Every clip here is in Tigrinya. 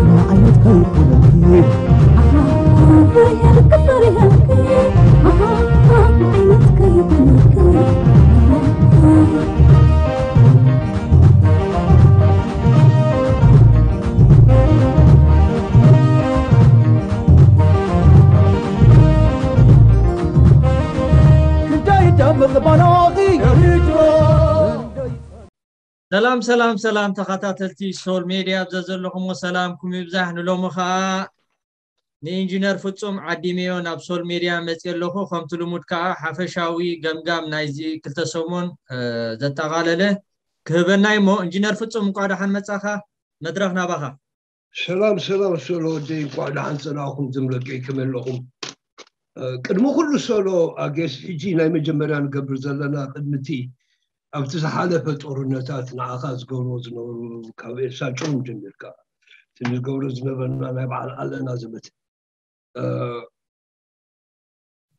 ንዓይነት ከይኮነልኪ ፍርያልኪ ፍርያልኪ ንዓይነት ከይኮነልኪ ሰላም ሰላም ሰላም ተኸታተልቲ ሶል ሜድያ ኣብ ዘዘለኹሞ ሰላምኩም ይብዛሕ። ንሎሚ ከዓ ንኢንጂነር ፍጹም ዓዲመዮ ናብ ሶል ሜድያ መፅየ ኣለኹ። ከምቲ ልሙድ ከዓ ሓፈሻዊ ገምጋም ናይዚ ክልተ ሰሙን ዘጠቓለለ ክህበና እሞ ኢንጂነር ፍጹም እንኳዕ ደሓን መፃኻ። መድረኽ ናባኻ። ሰላም ሰላም ሶሎ ወደይ፣ እንኳዕ ደሓን ፀናኹም። ዝምለቀይ ከመይ ኣለኹም? ቅድሚ ኩሉ ሶሎ ኣጌስ ሕጂ ናይ መጀመርያ ንገብር ዘለና ቅድሚ እቲ ኣብቲ ዝሓለፈ ጦርነታት ንዓኻ ዝገብርዎ ዝነበሩ ካብ ኤልሳ ጭሩም ጀሚርካ እቲ ንዝገብሮ ዝነበርና ናይ በዓል ኣለና ዘመተ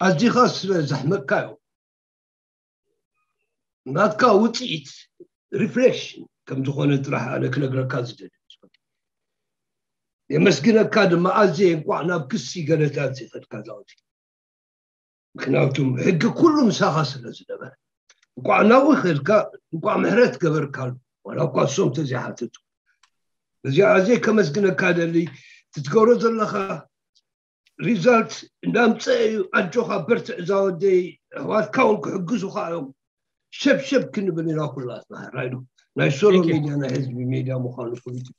ኣዚኻ ስለ ዘሕመቅካዮ ናትካ ውፅኢት ሪፍሌክሽን ከም ዝኾነ ጥራሕ ኣነ ክነግረካ ዝደሊ። የመስግነካ ድማ ኣዝየ እንኳዕ ናብ ክሲ ገለታት ይኸድካ ዛውቲ ምክንያቱ ሕጊ ኩሉ ምሳኻ ስለ ዝነበረ እንኳዕ ናብኡ ይኸድካ እንኳዕ ምሕረት ገበርካሉ ዋላ እኳ እሶም ተዘይሓተቱ እዚኣ ኣዝየ ከመስግነካ ደሊ ትትገብሮ ዘለኻ ሪዛልት እንዳምፀ እዩ ኣጆኻ በርትዕ እዛ ወደይ ኣሕዋትካ እውን ክሕግዙኻ እዮም ሸብሸብ ክንብል ኢና ኩላትና ራይዶ ናይ ሶሎ ሜድያ ናይ ህዝቢ ሜድያ ምዃኑ ፍሉጥ እዩ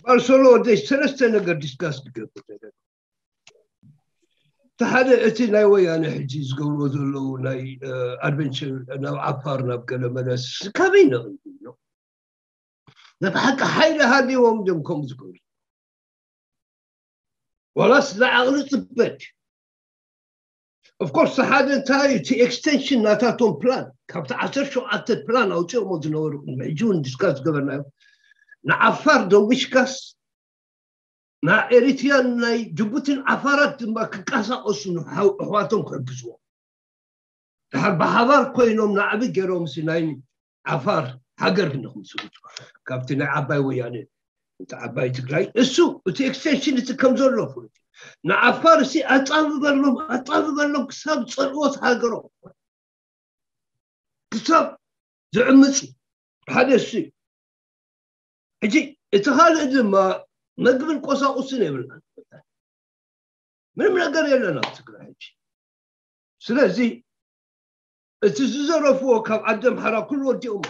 ባር ሶሎ ወደይ ሰለስተ ነገር ዲስካስ ክገብር ነገር እቲ ሓደ እቲ ናይ ወያነ ሕጂ ዝገብርዎ ዘለዉ ናይ ኣድቨንቸር ናብ ዓፋር ናብ ገለ መለስ ካበይ ነቕሉ ናብ ሓቂ ሓይሊ ሃልዎም ድዮም ከምኡ ዝገብሩ ዋላስ ንዓቕሊ ፅበት ኦፍኮርስ ሓደ እንታይ እቲ ኤክስቴንሽን ናታቶም ፕላን ካብቲ ዓሰርተ ሸውዓተ ፕላን ኣውፅኦሞ ዝነበሩ ሕጂ እውን ዲስካስ ዝገበርናዮ ንዓፋር ደዊሽካስ ናይ ኤሪትሪያን ናይ ጅቡቲን ዓፋራት ድማ ክንቀሳቀሱ ኣሕዋቶም ክሕግዝዎ ድሓር ብሓባር ኮይኖም ናዕቢ ገይሮም ሲ ናይ ዓፋር ሃገር ንክምስርቱ ካብቲ ናይ ዓባይ ወያነ እቲ ዓባይ ትግራይ እሱ እቲ ኤክስቴንሽን እቲ ከም ዘሎ ፍሉጥ ንዓፋር ሲ ኣጻብበሎም ኣጻብበሎም ክሳብ ጸልኦት ሃገሮም ክሳብ ዝዕምፅ ሓደ እሱ እዩ ሕጂ እቲ ካልእ ድማ መግብን ቆሳቁስን የብልናን ምንም ነገር የለን ኣብ ትግራይ ሕጂ ስለዚ እቲ ዝዘረፍዎ ካብ ዓዲ ኣምሓራ ኩሉ ወዲኦም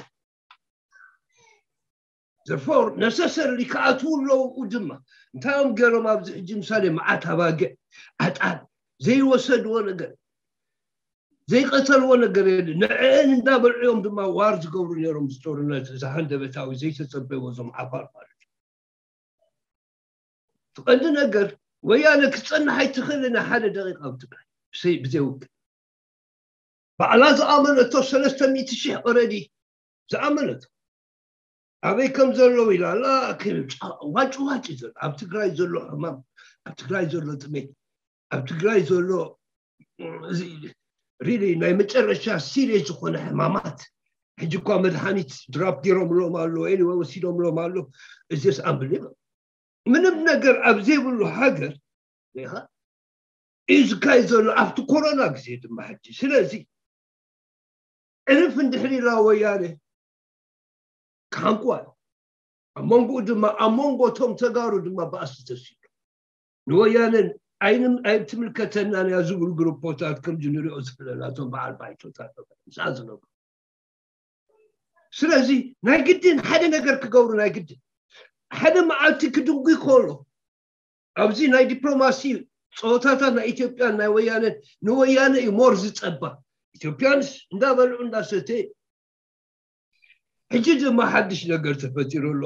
therefore necessarily ክኣትዉ ኣለዉ ድማ እንታይ እዮም ገይሮም ኣብዚ ሕጂ ምሳሌ መዓት ኣባግዕ ኣጣል ዘይወሰድዎ ነገር ዘይቀተልዎ ነገር የለ ንዕአን እንዳበልዑ እዮም ድማ ዋር ዝገብሩ ነይሮም ዝጦርነት እዚ ሃንደበታዊ ዘይተፀበይዎ እዞም ዓፋር ማለት እዩ ትቐንዲ ነገር ወያነ ክትፀንሕ ኣይትኽእልን ሓደ ደቂቃ ኣብ ትግራይ ብዘይ ውግእ ባዕላ ዝኣመነቶ ሰለስተ ሚእቲ ሺሕ ኦረዲ ዝኣመነቶ ኣበይ ከም ዘለዉ ኢላ ኣላ ዋጭ ዋጭ ዘሎ ኣብ ትግራይ ዘሎ ሕማም ኣብ ትግራይ ዘሎ ጥሜት ኣብ ትግራይ ዘሎ ሪሊ ናይ መጨረሻ ሲሪየስ ዝኾነ ሕማማት ሕጂ እኳ መድሓኒት ድራፕ ገይሮምሎም ኣሎ ወይ ወሲዶምሎም ኣሎ እዚስ ኣምብል ምንም ነገር ኣብ ዘይብሉ ሃገር ሪኻ እዩ ዝካየድ ዘሎ ኣብቲ ኮሮና ግዜ ድማ ሕጂ ስለዚ ዕርፍ እንድሕር ኢላ ወያነ ክሓንቁዋ እዮም ኣብ መንጎኡ ድማ ኣብ መንጎ እቶም ተጋሩ ድማ ባእሲ ተሲሉ ንወያነን ኣይትምልከተናን እያ ዝብሉ ግሩፖታት ከምዚ ንሪኦ ዘለና እቶም በዓል ባይቶታት ምስኣ ዝነብሩ ስለዚ ናይ ግድን ሓደ ነገር ክገብሩ ናይ ግድን ሓደ መዓልቲ ክድንጉ ከሎ ኣብዚ ናይ ዲፕሎማሲ ፀወታታት ናይ ኢትዮጵያን ናይ ወያነን ንወያነ እዩ ሞር ዝፀባ ኢትዮጵያንስ እንዳበልዑ እንዳሰተ ሕጂ ድማ ሓድሽ ነገር ተፈጢሩ ኣሎ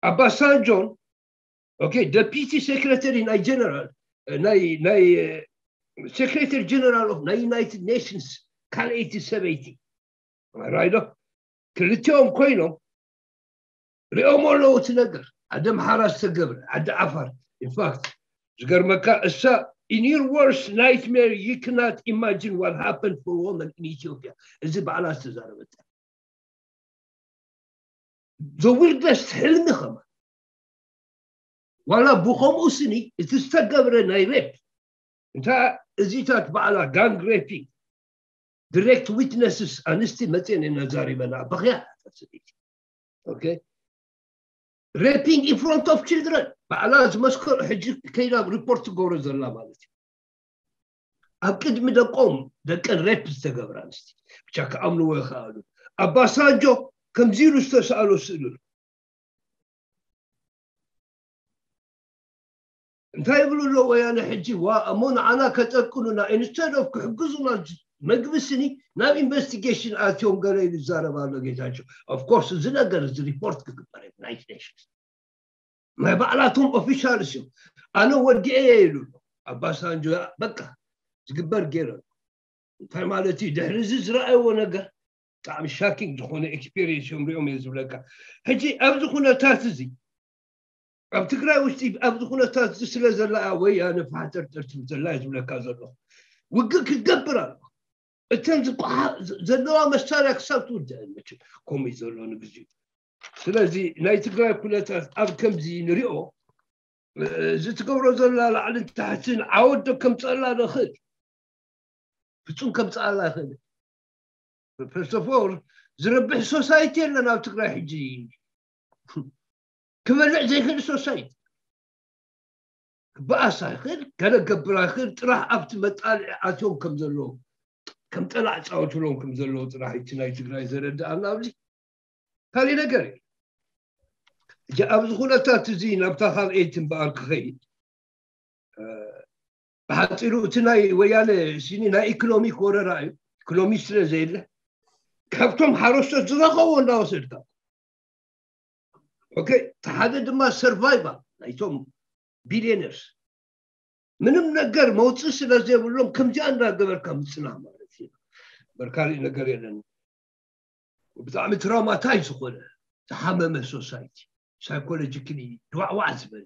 ኣባሳንጆን ኦኬ ደፒቲ ሴክሬተሪ ናይ ጀነራል ናይ ናይ ሴክሬተሪ ጀነራል ኦፍ ናይ ዩናይትድ ኔሽንስ ካልኣይቲ ሰበይቲ ራይዶ ክልቲኦም ኮይኖም ሪኦም ኣለዉ እቲ ነገር ዓዲ ኣምሓራ ዝተገብረ ዓዲ ዓፋር ኢንፋክት ዝገርመካ እሳ in your worst nightmare you cannot imagine what happened for women in Ethiopia እዚ ባዕላ ዝተዛረበታ the wildest ሕልሚ ከማ ዋላ ብኸምኡ ስኒ እቲ ዝተገብረ ናይ ሬፕ እንታ እዚታት በዓላ gang raping direct witnesses ኣንስቲ መፅየን ኢና ዛሪበና በኽያ ሰበይቲ okay raping in front of children ባዕላ ዝመስከሩ ሕጂ ከይዳ ሪፖርት ትገብሮ ዘላ ማለት እዩ ኣብ ቅድሚ ደቆም ደቀን ሬፕ ዝተገብራ ኣንስቲ ብቻ ክኣምንዎ ይኽኣሉ ኣባሳንጆ ከምዚ ኢሉ ዝተሰኣሎ ስእሉ እንታይ ይብሉ ኣሎ ወያነ ሕጂ ዋ እሞ ንዓና ከጠቅሉና instead of ክሕግዙና መግቢ ስኒ ናብ ኢንቨስቲጌሽን ኣትዮም ገለ ኢሉ ይዛረብ ኣሎ ጌታቸው of course እዚ ነገር እዚ ሪፖርት ክግበር ናይ ኔሽንስ ናይ ባዕላቶም ኦፊሻልስ እዮም ኣነ ወዲኤ እየ ኢሉ ኣሎ ኣባሳንጆ በቃ ዝግበር ገይረ እንታይ ማለት እዩ ድሕሪ እዚ ዝረኣይዎ ነገር ብጣዕሚ shocking ዝኾነ experience እዮም ሪኦም እየ ዝብለካ ሕጂ ኣብዚ ኩነታት እዚ ኣብ ትግራይ ውሽጢ ኣብዚ ኩነታት እዚ ስለ ዘላ ወያነ ፋሕተርተር ትብል ዘላ እየ ዝብለካ ዘለኹ ውግእ ክትገብር ኣሎ እተን ዘለዋ መሳርያ ክሳብ ትውድአን መቸም ከምኡ እዩ ዘሎ ንግዚኡ ስለዚ ናይ ትግራይ ኩነታት ኣብ ከምዚ ንሪኦ እዚ ትገብሮ ዘላ ላዕልን ታሕትን ዓወት ዶ ከምፀላ ንኽእል ፍፁም ከምፀኣላ ይኽእል first of all ዝረብሕ society የለን ኣብ ትግራይ ሕጂ ክበልዕ ዘይክእል society ክበኣሳ ይኽእል ገለ ገብራ ይኽእል ጥራሕ ኣብቲ መጣልዒ ኣትዮም ከም ዘለዉ ከም ጠላዕ ፃወትሎም ከም ዘለዉ ጥራሕ እቲ ናይ ትግራይ ዘረድኣና ኣብዚ ካልእ ነገር እዩ ሕጂ ኣብዚ ኩነታት እዚ ናብታ ካልኣይቲ እምበኣር ክኸይድ ብሓፂሩ እቲ ናይ ወያነ ሲኒ ናይ ኢኮኖሚክ ወረራ እዩ ኢኮኖሚ ስለ ዘየለ ካብቶም ሓረስቶት ዝረኸቦ እንዳወሰድካ ኦኬ እቲ ሓደ ድማ survival ናይቶም billionaires ምንም ነገር መውፅእ ስለ ዘይብሎም ከምዚኣ እንዳገበርካ ምፅናህ ማለት እዩ እምበር ካልእ ነገር የለን ብጣዕሚ traumatize ዝኾነ ዝሓመመ society psychologically ድዋዕዋዕ ዝበለ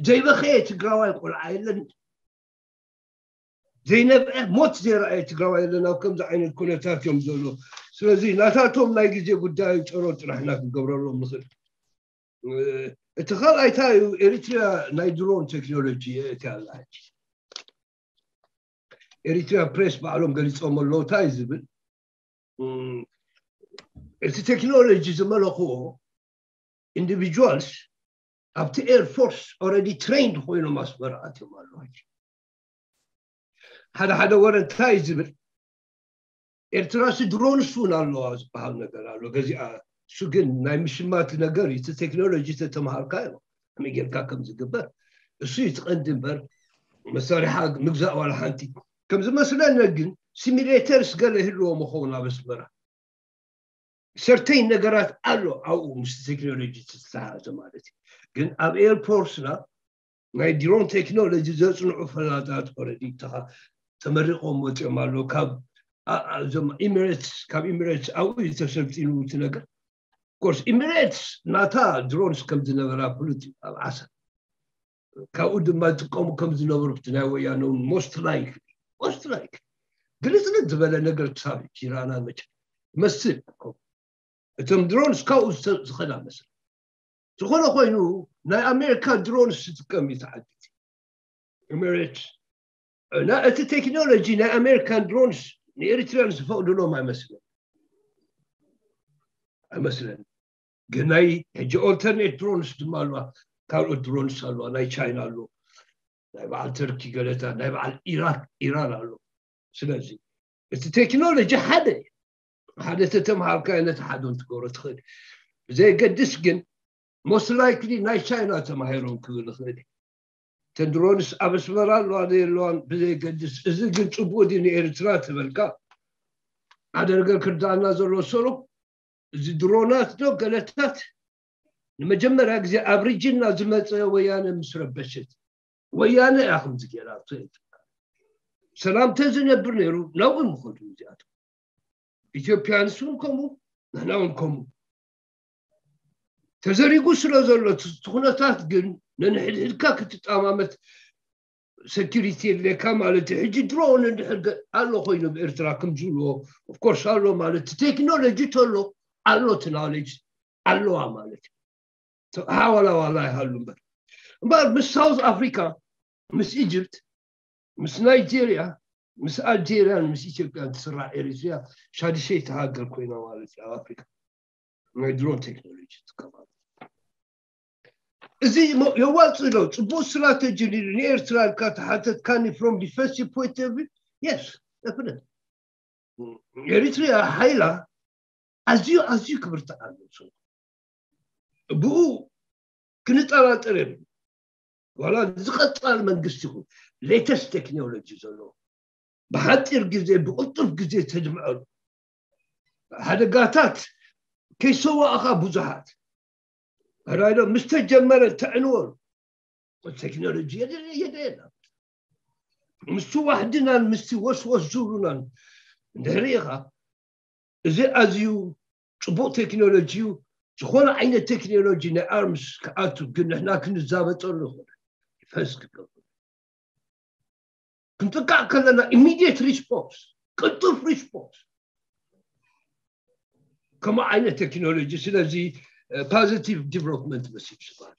ዘይበኸየ ትግራዋይ ቆልዓ የለን ዘይነብዐ ሞት ዘይረኣየ ትግራዋይ የለን ኣብ ከምዚ ዓይነት ኩነታት እዮም ዘሎ ስለዚ ናታቶም ናይ ግዜ ጉዳይ ጨሮ ጥራሕና ክንገብረሎም ንኽእል እቲ ካልኣይ እንታይ እዩ ኤሪትሪያ ናይ ድሮን ቴክኖሎጂ የእትያ ኣላ ሕጂ ኤሪትሪያ ፕሬስ ባዕሎም ገሊፆም ኣለዉ እንታይ ዝብል እቲ ቴክኖሎጂ ዝመለኽዎ individuals ኣብቲ air force already trained ኮይኖም ኣስመራ ኣትዮም ኣለዉ ሓደ ሓደ ወረ እንታይ ዝብል ኤርትራሲ ድሮንስ እውን ኣለዋ ዝበሃል ነገር ኣሎ ገዚኣ እሱ ግን ናይ ምሽማት ነገር እዩ እቲ ቴክኖሎጂ ተተምሃርካ እዩ ከመይ ጌርካ ከም ዝግበር እሱ እዩ ትቐንዲ እምበር መሳሪሓ ምግዛእ ዋላ ሓንቲ ከም ዝመስለኒ ግን ሲሚሌተርስ ገለ ይህልዎ መኸውን ኣብ ኣስመራ ሰርተይን ነገራት ኣሎ ኣብኡ ምስ ቴክኖሎጂ ዝተተሓዘ ማለት እዩ ግን ኣብ ኤርፖርስና ናይ ድሮን ቴክኖሎጂ ዘፅንዑ ፈላጣት ኦረዲ ተመሪቆም ወፂኦም ኣለዉ ካብ እዞም ኢሚሬትስ ካብ ኢሚሬትስ ኣብኡ እዩ ተሰልጢኑ እቲ ነገር ኮርስ ኢሚሬትስ ናታ ድሮንስ ከም ዝነበራ ፍሉጥ እዩ ኣብ ዓሰብ ካብኡ ድማ ዝጥቀሙ ከም ዝነበሩ እቲ ናይ ወያነ እውን most likely most likely ግልፅልፅ ዝበለ ነገር ክሳብ ሕጂ ይረኣና መቸ መስል እቶም ድሮንስ ካብኡ ዝኸዳ መስል ዝኾነ ኮይኑ ናይ ኣሜሪካ ድሮንስ ዝጥቀም እዩ ተዓዲት ኤሚሬትስ እና እቲ ቴክኖሎጂ ናይ ኣሜሪካን ድሮንስ ንኤሪትሪያን ዝፈቕድሎም ኣይመስለን ኣይመስለን ግን ናይ ሕጂ ኦልተርኔት ድሮንስ ድማ ኣለዋ ካልኦት ድሮንስ ኣለዋ ናይ ቻይና ኣሎ ናይ በዓል ተርኪ ገለታት ናይ በዓል ኢራን ኢራን ኣሎ ስለዚ እቲ ቴክኖሎጂ ሓደ ሓደ ተተምሃርካዮ ነቲ ሓደ ትገብሮ ትኽእል ብዘየገድስ ግን most likely ናይ ቻይና ተማሂሮም ክብል ይኽእል እተን ድሮንስ ኣብ ኣስመራ ኣለዋ ዘየለዋን ብዘየገድስ እዚ ግን ፅቡቅ ድዩ ንኤርትራ ትበልካ ሓደ ነገር ክርዳእና ዘሎ ሰሎ እዚ ድሮናት ዶ ገለታት ንመጀመርያ ግዜ ኣብ ሪጅንና ዝመፀ ወያነ ምስ ረበሸት ወያነ እያ ከምዚ ገይራ ሰላም ተዝነብር ነይሩ ናብኡ ምኸዱ እዚኣቶም ኢትዮጵያንስ እውን ከምኡ ንሕና እውን ከምኡ ተዘሪጉ ስለ ዘሎ እቲ ኩነታት ግን ነንሕድሕድካ ክትጠማመት ሰኪሪቲ የድልየካ ማለት እዩ ሕጂ ድሮን እንድሕር ኣሎ ኮይኑ ብኤርትራ ከም ዝብልዎ ኦፍኮርስ ኣሎ ማለት እቲ ቴክኖሎጂ ተሎ ኣሎ እቲ ናሌጅ ኣለዋ ማለት እዩ። ሓዋላዋላ ይሃሉ እምበር እምበር ምስ ሳውዝ ኣፍሪካ፣ ምስ ኢጅፕት፣ ምስ ናይጄርያ፣ ምስ ኣልጄርያን ምስ ኢትዮጵያን ትስራዕ ኤሪትሪያ ሻድሸይቲ ሃገር ኮይና ማለት እዩ ኣብ ኣፍሪካ። ናይ ድሮን ቴክኖሎጂ ትከፋል። እዚ የዋፅእ ዶ? ፅቡቅ ስትራቴጂ ንኤርትራ ኢልካ ተሓተትካኒ from defensive point of view? Yes, definitely. ኤሪትሪያ ሓይላ ኣዝዩ ኣዝዩ ክብርትዕ ኣሎ። ብኡ ክንጠራጠር የብሉ። ዋላ ዝቐፃል መንግስቲ ይኹን latest ቴክኖሎጂ ዘለዎ ብሓፂር ግዜ ብቕልጡፍ ግዜ ተድምዐሉ ሓደጋታት ከይሰዋእኻ ብዙሓት ራይዶ ምስ ተጀመረ ተዕንወሉ ቴክኖሎጂ የድልየና ምስቲ ዋሕድናን ምስቲ ወስወስ ዝብሉናን እንድሕር ኢኻ እዚ ኣዝዩ ፅቡቅ ቴክኖሎጂ እዩ። ዝኾነ ዓይነት ቴክኖሎጂ ናይ ኣርምስ ክኣቱ ግን ንሕና ክንዛበጠሉ ይኮነ ፈስ ክገብሩ ክንጥቃዕ ከለና ኢሚዲየት ሪስፖንስ ቅልጡፍ ሪስፖንስ ከምኡ ዓይነት ቴክኖሎጂ ስለዚ ፖዚቲቭ ዲቨሎፕመንት መሲሉ ዝበሃል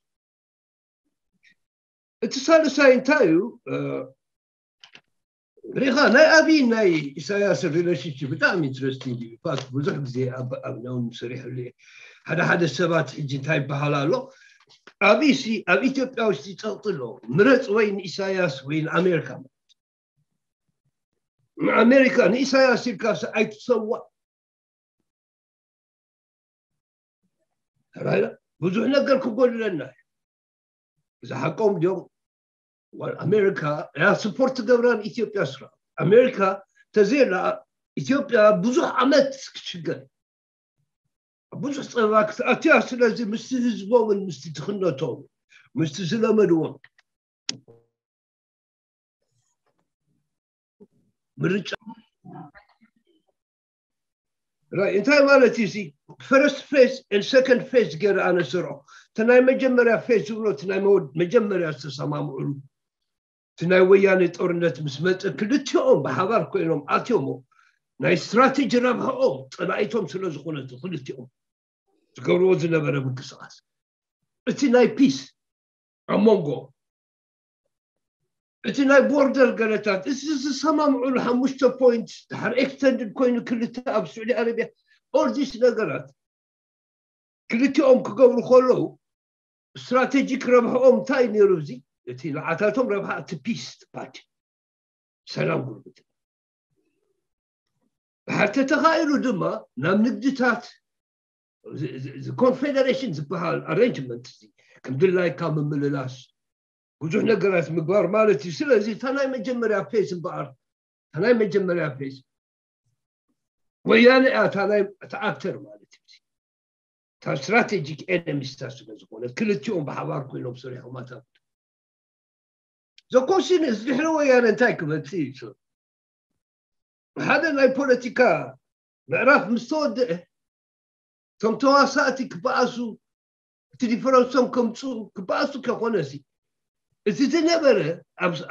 እቲ ሳልሳይ እንታይ እዩ ሪኻ ናይ ኣብይ ናይ ኢሳያስ ሪሌሽንሽፕ ብጣዕሚ ኢንትረስቲንግ እዩ ፋክት ብዙሕ ግዜ ኣብ ኣብናውን ሰሪሕሉ እየ ሓደ ሓደ ሰባት ሕጂ እንታይ ይበሃል ኣሎ ኣብይ ሲ ኣብ ኢትዮጵያ ውሽጢ ፀቕጢ ኣሎ ምረፅ ወይ ንኢሳያስ ወይ ንኣሜሪካ ንኣሜሪካ ንኢሳያስ ኢልካ ኣይትሰዋእ ብዙሕ ነገር ክጎድለና እዩ። እዚ ሓቆም ድዮም? ዋል ኣሜሪካ እያ ስፖርት ትገብራ ንኢትዮጵያ ስራ ኣሜሪካ ተዘየላ ኢትዮጵያ ብዙሕ ዓመት ክትሽገር ብዙሕ ፀበባ ክትኣትያ ስለዚ ምስቲ ህዝቦምን ምስቲ ትኽነቶም ምስቲ ዝለመድዎም ምርጫ እንታይ ማለት እዩ ሲ ፈረስት ፌዝ ን ሰከንድ ፌዝ ገይረ ኣነ ስርዖ እቲ ናይ መጀመርያ ፌዝ ዝብሎ እቲ ናይ መጀመርያ ዝተሰማምዕሉ እቲ ናይ ወያነ ጦርነት ምስ መፀ ክልቲኦም ብሓባር ኮይኖም ኣትዮሞ ናይ ስትራቴጂ ረብሐኦም ፀላኢቶም ስለ ዝኾነ ክልቲኦም ዝገብርዎ ዝነበረ ምንቅስቃስ እቲ ናይ ፒስ ኣብ መንጎ እቲ ናይ ቦርደር ገለታት እዚ ዝሰማምዑሉ ሓሙሽተ ፖይንት ድሓር ኤክስተንድድ ኮይኑ ክልተ ኣብ ስዑዲ ኣረቢያ ኦርዲስ ነገራት ክልቲኦም ክገብሩ ከለዉ ስትራቴጂክ ረብሕኦም እንታይ ነይሩ እዚ እቲ ንዓታቶም ረብሓ እቲ ፒስ ፓቲ ሰላም ጉርብት ድሓር ተተኻኢሉ ድማ ናብ ንግድታት ኮንፌደሬሽን ዝበሃል ኣሬንጅመንት እዚ ከም ድላይካ ምምልላስ ብዙሕ ነገራት ምግባር ማለት እዩ ስለዚ እታ ናይ መጀመርያ ፌዝ እምበኣር እታ ናይ መጀመርያ ፌዝ ወያነ እያ እታ ናይ እታ ኣክተር ማለት እዩ እታ ስትራቴጂክ ኤነሚስታ ስለ ዝኾነ ክልቲኦም ብሓባር ኮይኖም ሰሪሖም ኣታ ዘኮሲን እዚ ድሕሪ ወያነ እንታይ ክመፅእ እዩ ሓደ ናይ ፖለቲካ ምዕራፍ ምስ ተወደአ እቶም ተዋሳእቲ ክበኣሱ እቲ ዲፈረንሶም ከምፅኡ ክበኣሱ ከኾነ ሲ እቲ ዝነበረ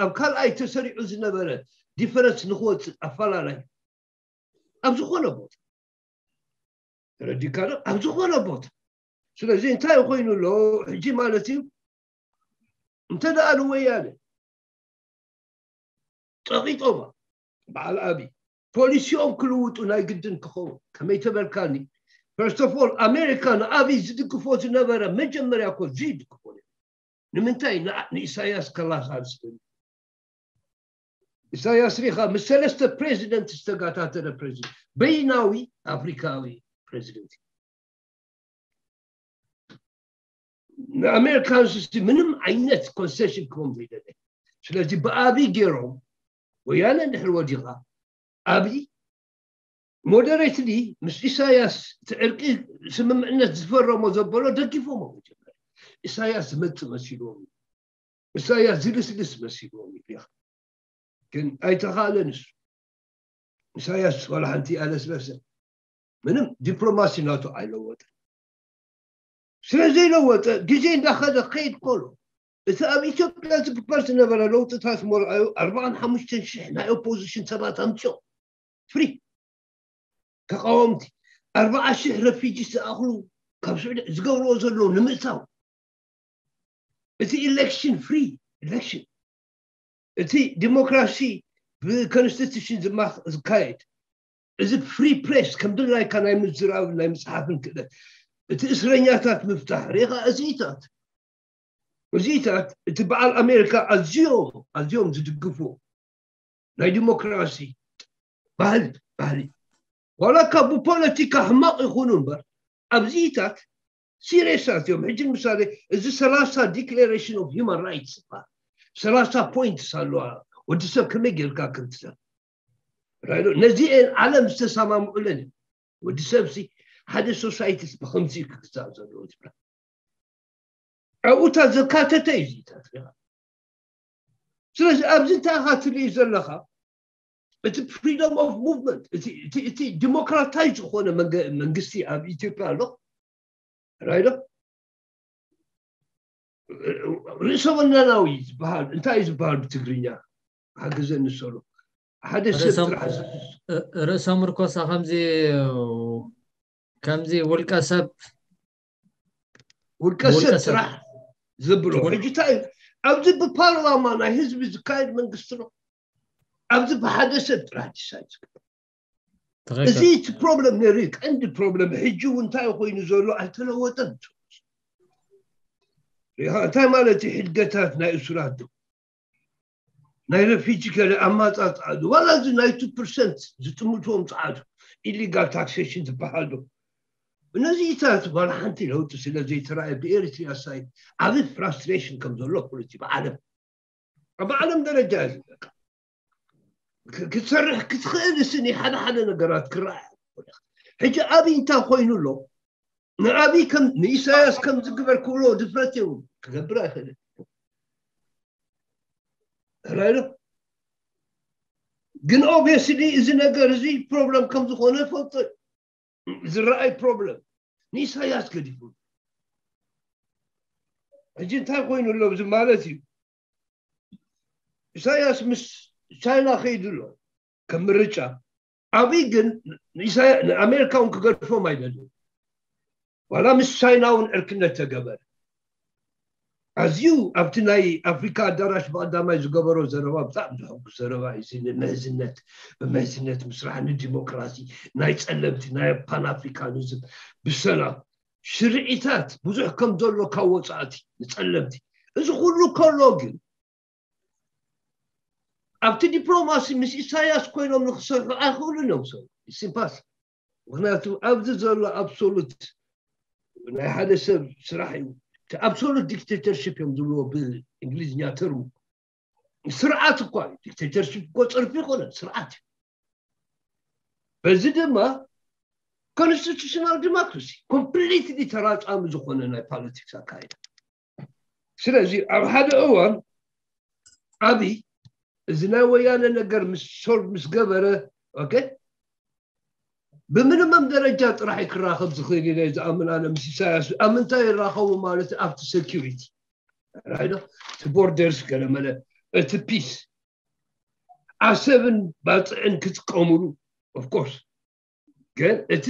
ኣብ ካልኣይ ተሰሪዑ ዝነበረ ዲፈረንስ ንክወፅእ ኣፈላላይ ኣብ ዝኾነ ቦታ ተረዲካ ዶ ኣብ ዝኾነ ቦታ ስለዚ እንታይ ኮይኑ ኣሎ ሕጂ ማለት እዩ እንተ ደኣ ንወያነ ፀቂጦማ በዓል ኣብይ ፖሊሲኦም ክልውጡ ናይ ግድን ክኸውን ከመይ ተበልካኒ first of all ኣሜሪካ ንኣብይ ዝድግፎ ዝነበረ መጀመርያ እኮ ዝይድግፎ ንምንታይ ንኢሳያስ ከላሳልስ ኢሳያስ ሪኻ ምስ ሰለስተ ፕሬዚደንት ዝተጋታተረ ፕሬዚደንት በይናዊ ኣፍሪካዊ ፕሬዚደንት ንኣሜሪካንስ ምንም ዓይነት ኮንሴሽን ክቦም ዘይደለ ስለዚ ብኣብይ ገይሮም ወያነ እንድሕር ወዲኻ ኣብይ ሞደሬትሊ ምስ ኢሳያስ እቲ ዕርቂ ስምምዕነት ዝፈረሞ ዘበሎ ደጊፎሞ መጀመር ኢሳያስ ዝመፅእ መሲልዎም ኢሳያስ ዝልስልስ መሲልዎም ኢኻ ግን ኣይተኻእለን እሱ ኢሳያስ ዋላ ሓንቲ ኣለስለሰ ምንም ዲፕሎማሲ ናቱ ኣይለወጠ ስለዘይለወጠ ግዜ እንዳኸደ ከይድ ከሎ እቲ ኣብ ኢትዮጵያ ዝግበር ዝነበረ ለውጥታት መርኣዩ ኣርባዓን ሓሙሽተን ሽሕ ናይ ኦፖዚሽን ሰባት ኣምፅኦ ፍሪ ተቃወምቲ ኣርባዓ ሽሕ ረፊጂ ዝኣኽሉ ካብ ስዑዲ ዝገብርዎ ዘለዉ ንምእታው፣ እቲ election፣ free election፣ እቲ ዲሞክራሲ ብኮንስቲቱሽን ዝማኽ ዝካየድ፣ እዚ ፍሪ ፕሬስ ከም ድላይካ ናይ ምዝራብ ናይ ምፅሓፍን ክእለት፣ እቲ እስረኛታት ምፍታሕ ሪኻ፣ እዚታት እዚታት እቲ በዓል ኣሜሪካ ኣዝዮም ኣዝዮም ዝድግፉ ናይ ዲሞክራሲ ባህል ባህሊ ዋላ ካብ ብፖለቲካ ሕማቕ ይኹኑ እምበር፣ ኣብዚታት ሲሪየሳት እዮም። ሕጂ ንምሳሌ፣ እዚ ሰላሳ ዲክሌሬሽን ኦፍ ሂማን ራይትስ ይበሃል። ሰላሳ ፖይንትስ ኣለዋ፣ ወዲ ሰብ ከመይ ጌርካ ከምትሰብ ራይዶ። ነዚኤን ዓለም ዝተሰማምዑለን እዩ። ወዲ ሰብሲ ሓደ ሶሳይቲስ ብከምዚ ክግዛእ ዘለዎ ዝብላ ኣብኡታ ዘካተተ እዩ እዚታት። ስለዚ ኣብዚ እንታይ ኢኻ ትርኢ ዘለኻ? እቲ ፍሪደም ኦፍ ሙቭመንት፣ እቲ ዲሞክራታይዝ ዝኾነ መንግስቲ ኣብ ኢትዮጵያ ኣሎ። ራይዶ፣ ርእሰ ወናናዊ ዝበሃል እንታይ እዩ ዝበሃል ብትግርኛ? ሓግዘኒ ሰሎ። ሓደ ሰብ ጥራሕ ርእሰ ምርኮሳ ከምዚ ከምዚ ውልቀ ሰብ ውልቀ ሰብ ጥራሕ ዘብሎ ሕጂ እንታይ እዩ? ኣብዚ ብፓርላማ ናይ ህዝቢ ዝካየድ መንግስቲ ነው። ኣብዚ ብሓደ ሰብ ጥራሕ ዲሳይድ ዝግበር። እዚ እቲ ፕሮብለም ነይሩ፣ ቀንዲ ፕሮብለም። ሕጂ እውን እንታይ ኮይኑ ዘሎ ኣይተለወጠን። እንታይ ማለት እዩ? ሕድገታት ናይ እሱራት ዶ ናይ ረፊጂ ገለ ኣማፃፅኣ ዶ ዋላ እዚ ናይ ቱ ፐርሰንት ዝጥምትዎም ፀዓዱ ኢሊጋል ታክሴሽን ዝበሃል ዶ? እነዚታት ዋላ ሓንቲ ለውጢ ስለ ዘይተረኣየ ብኤሪትሪያ ሳይድ ዓብ ፍራስትሬሽን ከም ዘሎ ፖለቲ ብዓለም ኣብ ዓለም ደረጃ እዩ ዝለካ ክትሰርሕ ክትኽእል ስኒ ሓደ ሓደ ነገራት ክረኣያ። ሕጂ ኣብይ እንታይ ኮይኑ ኣሎ? ንኣብይ ከም ንኢሳያስ ከም ዝግበር ክብሎ ድፍረት የብሉ፣ ክገብር ኣይኽእልን። ራይዶ ግን ኦብቪየስሊ እዚ ነገር እዚ ፕሮብለም ከም ዝኾነ ፈልጦ ዝረኣይ ፕሮብለም ንኢሳያስ ገዲፉ። ሕጂ እንታይ ኮይኑ ኣሎ እዚ ማለት እዩ? ኢሳያስ ምስ ቻይና ከይዱ ኣሎ ከም ምርጫ። ኣብይ ግን ንኣሜሪካ እውን ክገድፎም ኣይደልን። ዋላ ምስ ቻይና እውን ዕርክነት ተገበረ። ኣዝዩ ኣብቲ ናይ ኣፍሪካ ኣዳራሽ ብቀዳማይ ዝገበሮ ዘረባ ብጣዕሚ ዘሐጉስ ዘረባ እዩ። እዚ ንምሕዝነት ብምሕዝነት ምስራሕ ንዲሞክራሲ ናይ ጸለምቲ ናይ ፓንኣፍሪካኒዝም ብሰላም ሽርዒታት ብዙሕ ከም ዘሎ ካብ ወጻእቲ ንጸለምቲ እዚ ኩሉ ከሎ ግን ኣብቲ ዲፕሎማሲ ምስ ኢሳያስ ኮይኖም ንክሰርሑ ኣይኽእሉን እዮም። ሰብ ኢምፓስ ምክንያቱ ኣብዚ ዘሎ ኣብሶሉት ናይ ሓደ ሰብ ስራሕ እዩ። ኣብሶሉት ዲክቴተርሽፕ እዮም ዝብልዎ ብእንግሊዝኛ ተርሙ። ስርዓት እኳ እዩ። ዲክቴተርሽፕ እኮ ፅርፊ ይኮነን ስርዓት እዩ። በዚ ድማ ኮንስቲቱሽናል ዲሞክራሲ ኮምፕሊትሊ ተራፃሚ ዝኾነ ናይ ፖለቲክስ ኣካይዳ። ስለዚ ኣብ ሓደ እዋን ኣብይ እዚ ናይ ወያነ ነገር ምስ ሶልቭ ምስ ገበረ ኦኬ ብሚኒመም ደረጃ ጥራሕ ክራኸብ ዝኽእል ኢለ ዝኣምን ኣነ ምስ ኢሳያስ ኣብ ምንታይ ይራኸቡ ማለት ኣብቲ ሴኪሪቲ ራይዶ እቲ ቦርደርስ ገለመለ እቲ ፒስ ኣሰብን ባፅዕን ክጥቀሙሉ ኦፍኮርስ ግን እቲ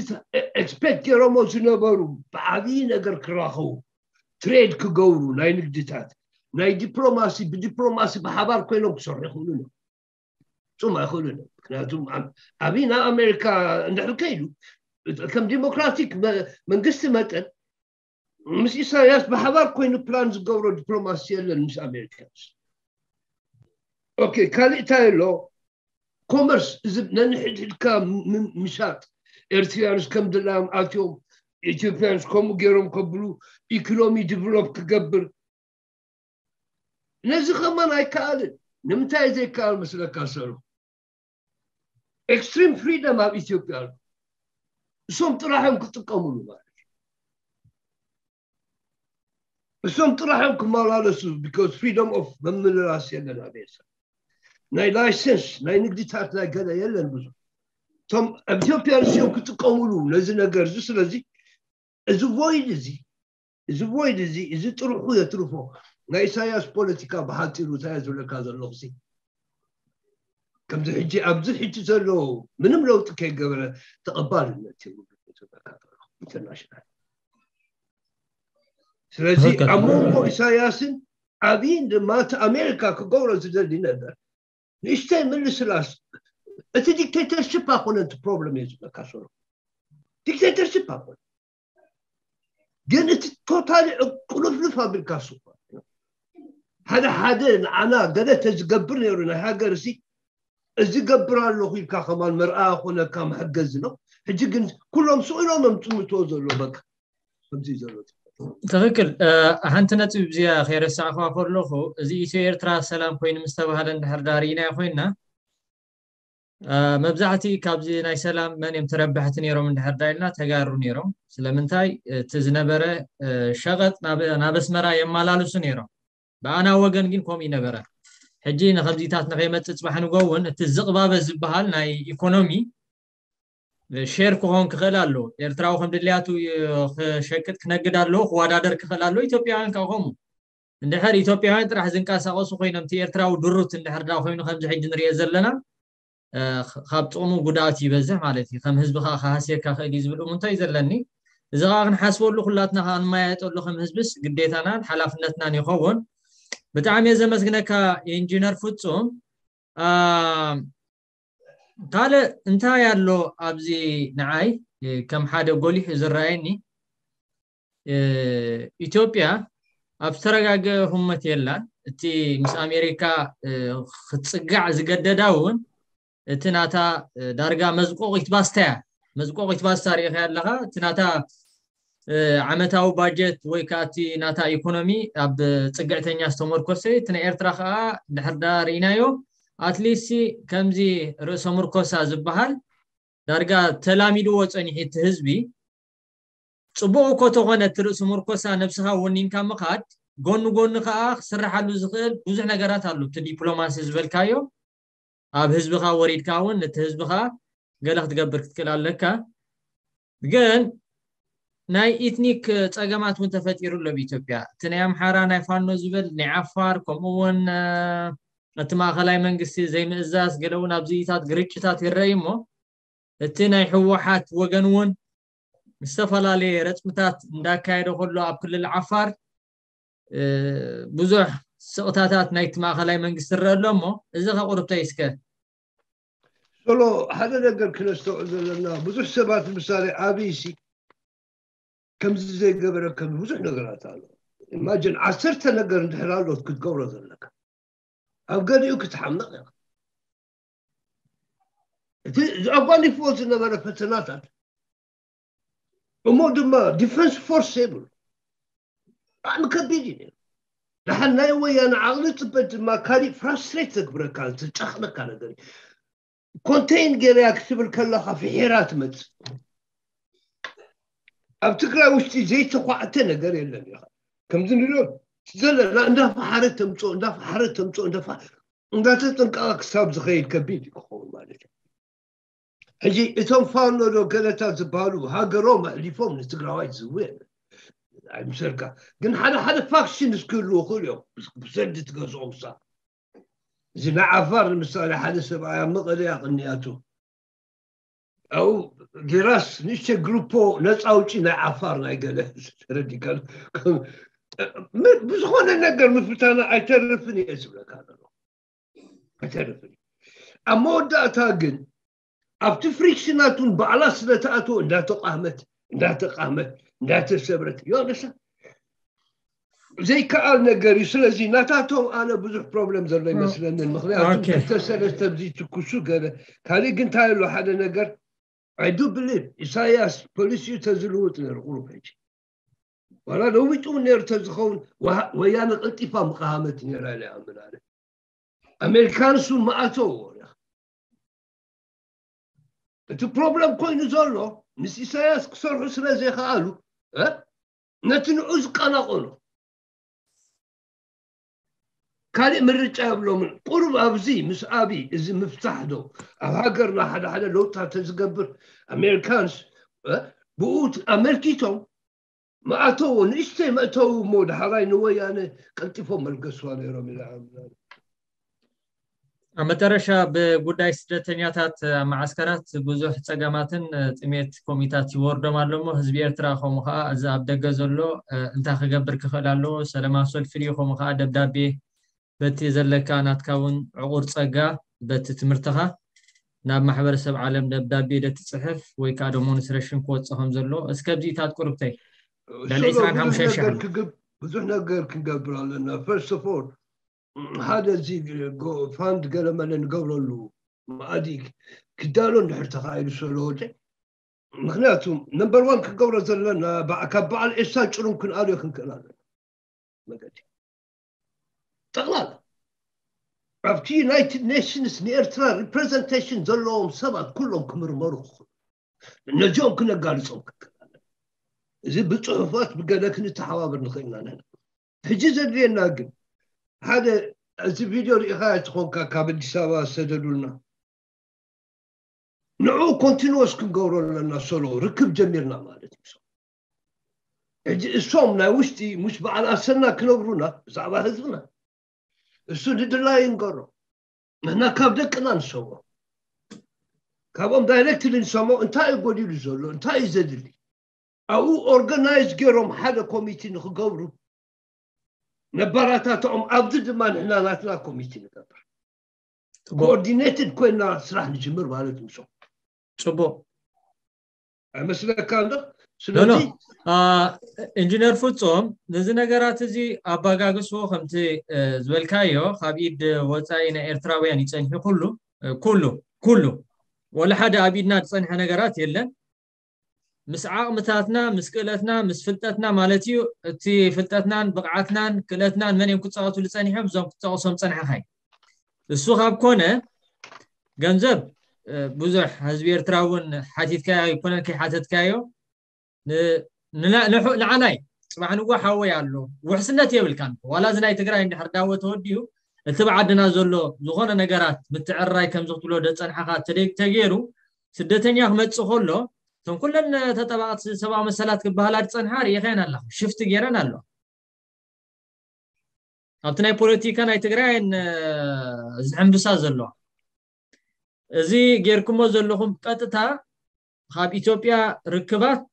ኤክስፔክት ገይሮሞ ዝነበሩ ብዓብዪ ነገር ክራኸቡ ትሬድ ክገብሩ ናይ ንግድታት ናይ ዲፕሎማሲ ብዲፕሎማሲ ብሓባር ኮይኖም ክሰርሑ ይኽእሉ እዮም። ጹም ኣይኽእሉን እዮም። ምክንያቱም ኣብይ ናብ ኣሜሪካ እንድሕር ከይዱ ከም ዲሞክራቲክ መንግስቲ መጠን ምስ ኢሳያስ ብሓባር ኮይኑ ፕላን ዝገብሮ ዲፕሎማሲ የለን ምስ ኣሜሪካንስ። ኦኬ ካልእ እንታይ ኣሎ? ኮመርስ እዚ ነንሕድሕድካ ምሻጥ ኤርትሪያንስ ከም ድላዮም ኣትዮም ኢትዮጵያንስ ከምኡ ገይሮም ከብሉ ኢኮኖሚ ዲቨሎፕ ክገብር ነዚ ከማን ኣይከኣልን። ንምንታይ ዘይከኣል መስለካ ሰሩ? ኤክስትሪም ፍሪደም ኣብ ኢትዮጵያ ኣሎ። እሶም ጥራሖም ክጥቀሙሉ ማለት እዩ። እሶም ጥራሖም ክመላለሱ because ፍሪደም ኦፍ መመለላስ የለን ኣብ ኤርትራ። ናይ ላይሰንስ ናይ ንግድታት ናይ ገለ የለን ብዙ እቶም ኣብ ኢትዮጵያ ንስዮም ክጥቀሙሉ ነዚ ነገር እዚ ስለዚ እዚ ቮይድ እዚ እዚ ቮይድ እዚ እዚ ጥርሑ የትርፎ ናይ ኢሳያስ ፖለቲካ ብሓፂሩ እንታይ ዝብለካ ዘለኹ ሲ ከምዚ ሕጂ ኣብዚ ሕጂ ዘሎ ምንም ለውጢ ከይገበረ ተቐባልነት የብሉ ኢንተርናሽናል ስለዚ ኣብ መንጎ ኢሳያስን ኣብይን ድማ እቲ ኣሜሪካ ክገብሮ ዝደሊ ነገር ንእሽተይ ምልስላስ። እቲ ዲክቴተርሽፕ ኣይኮነን እቲ ፕሮብለም እየ ዝብለካ። ሶሎ፣ ዲክቴተርሽፕ ኣይኮነ፣ ግን እቲ ቶታሊ ቁልፍልፍ ኣቢልካ ስኳ ሓደ ሓደ ንዓና ገለ ተዝገብር ነይሩ ናይ ሃገር ሲ እዚ ገብር ኣለኹ ኢልካ ከማን መርኣያ ኮነካ መሐገዚ ነው። ሕጂ ግን ኩሎም ስቕ ኢሎም እዮም ዝጥምትዎ ዘሎ። በቃ ከምዚ ዘሎ ትኽክል። ሓንቲ ነጥብ እዚኣ ከይረሳዕኳ ከለኹ፣ እዚ ኢትዮ ኤርትራ ሰላም ኮይኑ ምስ ተባሃለ እንድሕር ዳር ኢናዮ ኮይና፣ መብዛሕቲ ካብዚ ናይ ሰላም መን እዮም ተረባሕቲ ነይሮም እንድሕር ዳር ኢልና፣ ተጋሩ ነይሮም። ስለምንታይ? እቲ ዝነበረ ሸቐጥ ናብ ኣስመራ የመላልሱ ነይሮም። ብኣና ወገን ግን ከምኡ ይነበረ። ሕጂ ንከምዚታት ንኸይመፅእ ፅባሕ ንጎ እውን እቲ ዝቕባበ ዝበሃል ናይ ኢኮኖሚ ሼር ክኾን ክኽእል ኣሎ። ኤርትራዊ ከም ድልያቱ ክሸቅጥ ክነግድ ኣሎ፣ ክወዳደር ክኽእል ኣሎ። ኢትዮጵያውያን ከዓ ከምኡ። እንድሕር ኢትዮጵያውያን ጥራሕ ዝንቀሳቐሱ ኮይኖም፣ እቲ ኤርትራዊ ድሩት እንድሕር ዳ ኮይኑ ከምዚ ሕጂ ንሪኦ ዘለና፣ ካብ ጥቕሙ ጉድኣት ይበዝሕ ማለት እዩ። ከም ህዝቢ ከዓ ክሃስየካ ክእል እዩ ዝብል እሙንታ እዩ ዘለኒ። እዚ ከዓ ክንሓስበሉ፣ ኩላትና ከዓ ንመያየጠሉ ከም ህዝብስ ግዴታናን ሓላፍነትናን ይኸውን። ብጣዕሚ እየ ዘመስግነካ ኢንጂነር ፍጹም። ካልእ እንታይ ኣሎ ኣብዚ ንዓይ ከም ሓደ ጎሊሑ ዝረኣየኒ፣ ኢትዮጵያ ኣብ ዝተረጋገ ህሞት የላን። እቲ ምስ ኣሜሪካ ክትፅጋዕ ዝገደዳ እውን እቲ ናታ ዳርጋ መዝቆቒት ባስታ እያ። መዝቆቒት ባስታ ርኢኻ ኣለኻ። እቲ ናታ ዓመታዊ ባጀት ወይ ከዓ እቲ ናታ ኢኮኖሚ ኣብ ፅግዕተኛ ዝተመርኮሰ፣ እቲ ናይ ኤርትራ ከዓ ድሕር ዳ ርኢናዮ። ኣትሊስት ከምዚ ርእሰ ምርኮሳ ዝበሃል ዳርጋ ተላሚድዎ ፀኒሑ እቲ ህዝቢ። ፅቡቕ እኮ ተኾነ እቲ ርእሲ ምርኮሳ ነብስኻ ወኒንካ ምኻድ፣ ጎኒ ጎኒ ከዓ ክስራሓሉ ዝኽእል ብዙሕ ነገራት ኣሎ። እቲ ዲፕሎማሲ ዝበልካዮ ኣብ ህዝብኻ ወሪድካ እውን ነቲ ህዝብኻ ገለ ክትገብር ክትክእል ኣለካ። ግን ናይ ኢትኒክ ፀገማት እውን ተፈጢሩ ኣሎ ኣብ ኢትዮጵያ። እቲ ናይ ኣምሓራ ናይ ፋኖ ዝብል ናይ ዓፋር፣ ከምኡ እውን እቲ ማእኸላይ መንግስቲ ዘይምእዛዝ፣ ገለ እውን ኣብዚታት ግርጭታት ይረኣይ እሞ እቲ ናይ ህወሓት ወገን እውን ዝተፈላለየ ረፅምታት እንዳካየደ ከሎ ኣብ ክልል ዓፋር ብዙሕ ስቕታታት ናይቲ ማእኸላይ መንግስቲ ይረአ ኣሎ እሞ እዚ ከቁርብተይ እስከ። ሶሎ፣ ሓደ ነገር ክነስተውዕል ዘለና፣ ብዙሕ ሰባት ምሳሌ ኣብይ ሲ ከምዚ ዘይገበረ ከም ብዙሕ ነገራት ኣሎ። ኢማጅን ዓሰርተ ነገር እንድሕር ኣሎት ክትገብሮ ዘለካ ኣብ ገሊኡ ክትሓምቕ ኢኻ። እቲ ዘጓኒፍዎ ዝነበረ ፈተናታት እሞ ድማ ዲፈንስ ፎርስ የብሉ። ብጣዕሚ ከቢድ እዩ ነይሩ። ደሓን ናይ ወያነ ዓቕሊ ፅበት ድማ ካሊእ ፍራስትሬት ዘግብረካ ዘጨኽነካ ነገር እዩ። ኮንቴን ገይርያ ክትብል ከለኻ ፍሒራ ትመፅእ። ኣብ ትግራይ ውሽጢ ዘይተኳዕተ ነገር የለን። ኢኻ ከምዚ ንሪኦ ዘለና እንዳፈሓረ ተምፅኦ እንዳፈሓረ ተምፅኦ እንዳፋ እንዳተጠንቀቐ ክሳብ ዝኸይድ ከቢድ እዩ ክኸውን ማለት እዩ። ሕጂ እቶም ፋኖ ዶ ገለታት ዝበሃሉ ሃገሮም ኣሕሊፎም ንትግራዋይ ዝህቡ የለን ኣይምሰልካ። ግን ሓደ ሓደ ፋክሽን እስክህልዉ ይኽእሉ እዮም ብሰልዲ ትገዝኦም ሳ እዚ ናይ ዓፋር ንምሳሌ ሓደ ሰብኣይ ኣብ መቐለ እያ ቅንያቱ ኣብኡ ጌራስ ንእሽተ ግሩፖ ነፃ ኣውጪ ናይ ዓፋር ናይ ገለ ተረዲካ ብዝኾነ ነገር ምፍታና ኣይተርፍን እየ ዝብለካ ዘሎ ኣይተርፍን ኣብ መወዳእታ ግን ኣብቲ ፍሪክሽናቱን ባዕላ ስለተኣትዎ እንዳተቃህመት እንዳተቃህመት እንዳተሰብረት ዮነሳ ዘይከኣል ነገር እዩ ስለዚ ናታቶም ኣነ ብዙሕ ፕሮብለም ዘሎ ይመስለንን ምክንያቱ ተሰለስተ ብዚ ትኩሱ ገለ ካሊእ ግን እንታይ ኣሎ ሓደ ነገር I do believe ኢሳያስ ፖሊሲኡ ተዝልውጥ ነይሩ ቁሩብ ሕጂ ዋላ ለዊጡ እውን ነይሩ ተዝኸውን ወያነ ቀልጢፋ ምቃሃመት ነይራ ኢለ ይኣምን ኣነ ኣሜሪካንስ እውን መኣተዎ እቲ ፕሮብለም ኮይኑ ዘሎ ምስ ኢሳያስ ክሰርሑ ስለ ዘይከኣሉ ነቲ ንዑ ዝቀናቀኑ ካሊእ ምርጫ የብሎምን ቁሩብ ኣብዚ ምስ ኣብይ እዚ ምፍታሕ ዶ ኣብ ሃገርና ሓደ ሓደ ለውጥታት ተዝገብር ኣሜሪካንስ ብኡ ኣመልኪቶም መኣተዎ ንእሽተይ መእተዊ እሞ ዳሕራይ ንወያነ ቀልጢፎም መልገስዋ ነይሮም ኢለ ኣብ መጨረሻ ብጉዳይ ስደተኛታት ኣብ መዓስከራት ብዙሕ ጸገማትን ጥሜት ኮሚታት ይወርዶም ኣሎ እሞ ህዝቢ ኤርትራ ከምኡ ከዓ እዚ ኣብ ደገ ዘሎ እንታይ ክገብር ክኽእል ኣለዎ? ሰለማዊ ሰልፊ ድዩ? ከምኡ ከዓ ደብዳቤ በቲ ዘለካ ናትካ እውን ዕቑር ጸጋ በቲ ትምህርትኻ ናብ ማሕበረሰብ ዓለም ደብዳቤ ደትጽሕፍ ወይ ከዓ ዶሞንስትሬሽን ክወጽእ ከም ዘሎ እስከ ኣብዚኢታት ቁርብተይ ልዕሊ ሶሎ፣ ብዙሕ 25 ሺሕ ነገር ክግብ-፣ ብዙሕ ነገር ክንገብር ኣለና። First of all፣ ሓደ እዚ ጎ-፣ ፋንድ ገለመለ ንገብረሉ መኣዲ ክዳሎ እንድሕር ተኻኢሉ ሶሎ ወደ፣ ምኽንያቱ ነምበር ዋን ክንገብሮ ዘለና በዓ-፣ ካብ በዓል ኤሳ ጭሩም ክንኣልዮ ክንክእል ኣለና። መገዲ ጠቕላላ ኣብቲ ዩናይትድ ኔሽንስ ንኤርትራ ሪፕሬዘንቴሽን ዘለዎም ሰባት ኩሎም ክምርመሩ ክኽእሉ፣ ነዚኦም ክነጋልጾም ክንክእል ኣለና። እዚ ብጽሑፋት ብገለ ክንተሓባበር ንኽእል ኢና ንሕና። ሕጂ ዘድልየና ግን ሓደ፣ እዚ ቪድዮ ርኢኻ ትኾንካ፣ ካብ ኣዲስ ኣበባ ዝሰደዱልና፣ ንዕኡ ኮንቲኒወስ ክንገብሮ ኣለና። ሶሎ፣ ርክብ ጀሚርና ማለት እዩ። ሕጂ እሶም ናይ ውሽጢ ሙሽ በዓል ኣሰና ክነግሩና ብዛዕባ ህዝብና፣ እሱ ንድላዩ ይንገሮ። ንሕና ካብ ደቅና ንሰምዖ፣ ካብኦም ዳይሬክትሊ ንሰምዖ። እንታይ እዩ ጎዲሉ ዘሎ? እንታይ እዩ ዘድሊ? ኣብኡ ኦርጋናይዝ ገይሮም ሓደ ኮሚቲ ንክገብሩ ነባራታትዖም። ኣብዚ ድማ ንሕና ናትና ኮሚቲ ንገብር። ጽቡቕ። ኮኦርዲኔትድ ኮይና ስራሕ ንጅምር ማለት እዩ። ጽቡቕ። ኣይመስለካ እንዶ? ኖ፣ ኖ። ስለዚ አ፣ ኢንጂነር ፍጹም፣ ነዚ ነገራት እዚ ኣባጋግስዎ ከምቲ፣ እ፣ ዝበልካዮ፣ ካብ ኢድ ወጻኢ ናይ ኤርትራውያን ይጸንሑ ኩሉ፣ እ፣ ኩሉ፣ ኩሉ። ወላ ሓደ ኣብ ኢድና ዝጸንሐ ነገራት የለን። ምስ ዓቕምታትና፣ ምስ ክእለትና፣ ምስ ፍልጠትና ማለት እዩ። እቲ ፍልጠትናን ብቕዓትናን ክእለትናን መን እዮም ክጻወቱሉ ጸኒሖም? እዞም ክትጠቕሶም ጸንሐኻ እዩ። እሱ ካብ ኮነ፣ ገንዘብ፣ እ፣ ብዙሕ ህዝቢ ኤርትራ እውን ሓቲትካዮ ኣይኮነን ከይሓተትካዮ። ን-፣ ንና-፣ ንሑ-፣ ንዓናይ ጽባሕ ንግሆ ሓወይ ኣሎ። ውሕስነት የብልካን። ዋላ እዚ ናይ ትግራይ እንድሕር ዳወ ተወዲኡ፣ እቲ ብዓድና ዘሎ ዝኾነ ነገራት ምትዕርራይ ከምዚ ክትብሎ ደጸንሓኻ ተደ-፣ ተገይሩ፣ ስደተኛ ክመጽእ ከሎ፣ እቶም ኩለን ተጠባቕቲ ሰብኣዊ መሰላት ክበሃላ ዝጸንሓ ርኢኸን ኣለኻ። ሽፍቲ ገይረን ኣለዋ። ኣብቲ ናይ ፖለቲካ ናይ ትግራይ እየን፣ እ፣ ዝሕምብሳ ዘለዋ። እዚ ጌርኩሞ ዘለኹም ቀጥታ ካብ ኢትዮጵያ ርክባት፣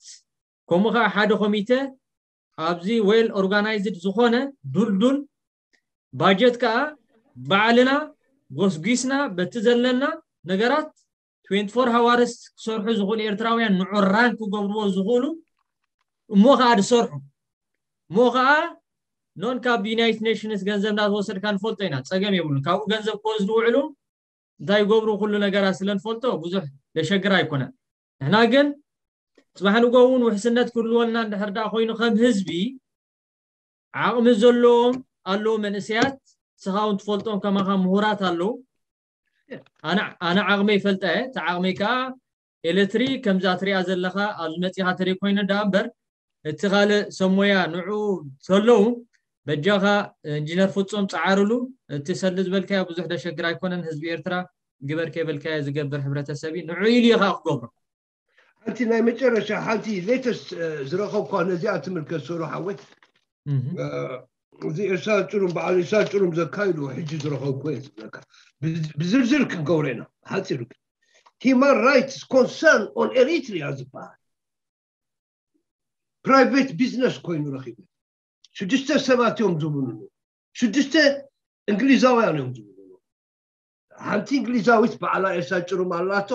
ከምኡ ኸዓ ሓደ ኮሚቴ ኣብዚ ዌል ኦርጋናይዝድ ዝኾነ ዱልዱል ባጀት ከኣ ባዕልና ጎስጒስና በቲ ዘለና ነገራት ትዌንቲ ፎር ሃዋርስ ክሰርሑ ዝኽእሉ ኤርትራውያን ንዑ ራን ክገብርዎ ዝኽእሉ እሞ ኸዓ ዝሰርሑ እሞ ኸዓ ኖን ካብ ዩናይትድ ኔሽንስ ገንዘብ እንዳተወሰድካ ንፈልጦ ኢና፣ ጸገም የብሉን። ካብኡ ገንዘብ ክወስዱ ውዕሉ እንታይ ይገብሩ ኩሉ ነገራት ስለ ንፈልጦ ብዙሕ ዘሸግር ኣይኮነን። ንሕና ግን ጽባሕ ንግሆ እውን ውሕስነት ክህልወና እንድሕር ደኣ ኮይኑ ከም ህዝቢ ዓቕሚ ዘለዎም ኣለዉ መንእሰያት፣ ንስኻ እውን ትፈልጦም ከማኻ ምሁራት ኣለዉ። ኣነ፣ ኣነ ዓቕመይ ይፈልጣ እየ። እቲ ዓቕመይ ከኣ ኤሌክትሪክ ከምዛ ትሪኣ ዘለኻ ኣብዚ መጺኻ ተደይ ኮይኑ ደኣ እምበር እቲ ካልእ ሰብ ሞያ ንዑ ተለዉ በጃኻ ኢንጂነር ፍጹም ጸዓርሉ። እቲ ሰሊ ዝበልካዮ ብዙሕ ደሸግር ኣይኮነን። ህዝቢ ኤርትራ ግበር ከይበልካዮ ዝገብር ሕብረተሰብ እዩ። ንዑ ኢሉ እዩ ከኣ ክገብሮ። ሓንቲ ናይ መጨረሻ ሓንቲ ሌተስት ዝረኸብኳ ነዚኣ ትምልከት ሶሎ ሓወይ። እህ። እ፣ እዚ ኤርትራ ጭሩም በዓል ኤርትራ ጭሩም ዘካይዱ ሕጂ ዝረኸብኩ እየ ዝብለካ። ብዝ-፣ ብዝርዝር ክንገብሮ ኢና። ሓፂሩ ግን Human Rights Concern on Eritrea ዝበሃል ፕራይቬት ቢዝነስ ኮይኑ ረኺቡ። ሽዱሽተ ሰባት እዮም ዝብሉሉ። ሽዱሽተ እንግሊዛውያን እዮም ዝብሉሉ። ሓንቲ እንግሊዛዊት በዓላ ኤርትራ ጭሩም ኣላቶ።